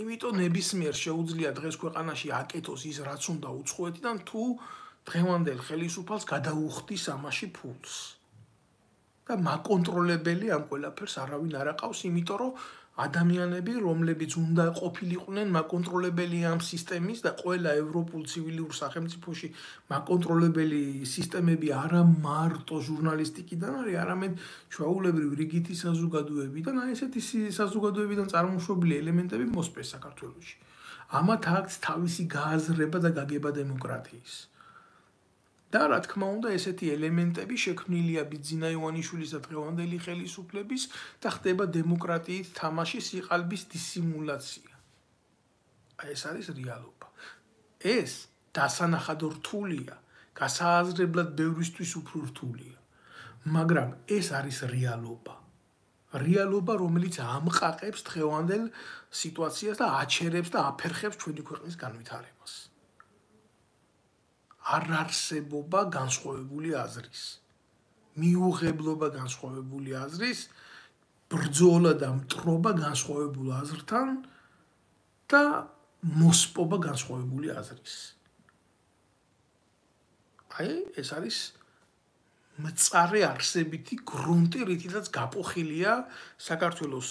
იმიტომ ნებისმიერ შეუძლია დღეს ქვეყანაში აკეთოს ის, რაც უნდა უცხოეთიდან, თუ დღევანდელ ხელისუფალს გადაუხდის ამაში ფულს. და მაკონტროლებელი ამ ყველაფერს არავინ არ აყავს, იმიტომ რომ ადამიანები, რომლებიც უნდა ყოფილიყვნენ მაკონტროლებელი ამ სისტემის და ყველა ევროპულ ცივილიურ სახელმწიფოში მაკონტროლებელი სისტემები არა მარტო ჟურნალისტიკიდან არის, არამედ ჩვეულებრივ რიგითი საზოგადოებიდან, აი ესეთი საზოგადოებიდან წარმოშობილი ელემენტები მოსპეს საქართველოში. ამათ აქვს თავისი გააზრება და გაგება დემოკრატიის. და რა თქმა უნდა, ესეთი ელემენტები შექმნილია ბიძინა ივანიშვილის და დღევანდელი ხელისუფლების და ხდება დემოკრატიით თამაშის სიყალბის დისიმულაცია. ეს არის რეალობა. ეს დასანახად რთულია, გასააზრებლად ბევრისთვის უფრო რთულია. მაგრამ ეს არის რეალობა. რეალობა, რომელიც ამყაყებს დღევანდელ სიტუაციას და აჩერებს და აფერხებს ჩვენი ქვეყნის განვითარებას. არ არსებობა განსხვავებული აზრის, მიუღებლობა განსხვავებული აზრის, ბრძოლა და მტრობა განსხვავებულ აზრთან და მოსპობა განსხვავებული აზრის. აი, ეს არის მწარე არსებითი გრუნტი, რითაც გაპოხილია საქართველოს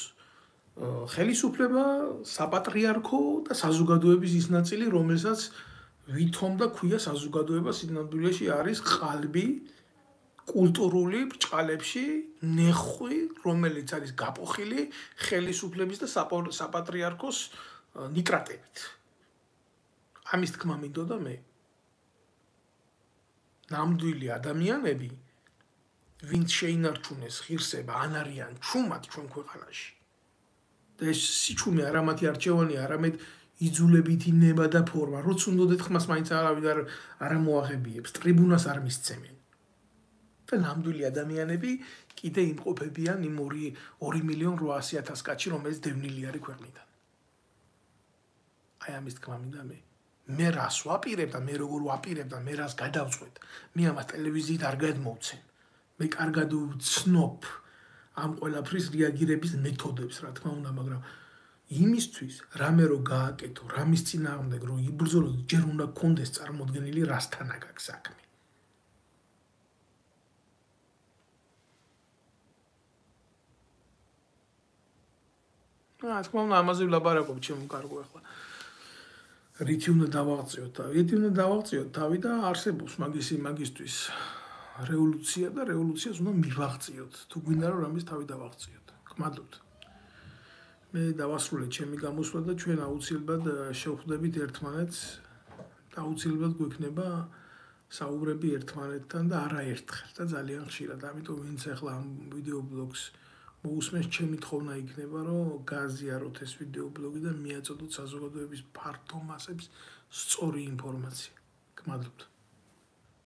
ხელისუფლება, საპატრიარქო და საზოგადოების ის ნაწილი, რომელსაც ვითომ და ქვია საზოგადოება სინამდვილეში არის ყალბი კულტურული ბრჭყალებში ნეხვი, რომელიც არის გაპოხილი ხელისუფლების და საპატრიარქოს ნიტრატებით. ამის თქმა მინდოდა მე. ნამდვილი ადამიანები, ვინც შეინარჩუნეს ღირსება, ან არიან ჩუმად ჩვენ ქვეყანაში. და ეს სიჩუმე არა მათი არჩევანი, არამედ იძულებითი ნება და ფორმა. როც უნდათ ხმას მაინც არავინ არ მოაღებიებს, ტრიბუნას არ მისცემენ. და ნამდვილი ადამიანები კიდე იმყოფებიან იმ 2.800.000 კაცში, რომელიც დევნილი არის ქვეყნიდან. აი ამის თქმა მინდა მე რას ვაპირებ და მე როგორ ვაპირებ და მე რას გადავწყვეტ, მე ამას ტელევიზიით არ გადმოვცემ. მე კარგად ვცნობ ამ ყველაფრის რეაგირების მეთოდებს, რა თქმა უნდა, მაგრამ იმისთვის რამე რო გააკეთო, რამის წინააღმდეგ რო იბრძოლო, ჯერ უნდა გქონდეს წარმოდგენილი რასთან აქვს საქმე. რა თქმა უნდა, ამაზე ვლაპარაკობ, ჩემო კარგო ახლა. რითი უნდა დავაღწიოთ თავი? რითი უნდა დავაღწიოთ თავი და არსებობს მაგისთვის რევოლუცია და რევოლუციას უნდა მივაღწიოთ. თუ გვინდა რომ რამის თავი დავაღწიოთ. გმადლობთ. მე დავასრულე ჩემი გამოსვლა და ჩვენ აუცილებლად შევხვდებით ერთმანეთს და აუცილებლად გვექნება საუბრები ერთმანეთთან და არა ერთხელ და ძალიან ხშირად. ამიტომ ვინც ახლა ამ ვიდეო ბლოგს მოусმენს, ჩემი თხოვნა იქნება, რომ გააზიაროთ ეს ვიდეო ბლოგი და მიაწოდოთ საზოგადოების ფართო მასებს სწორი ინფორმაცია. გმადლობთ.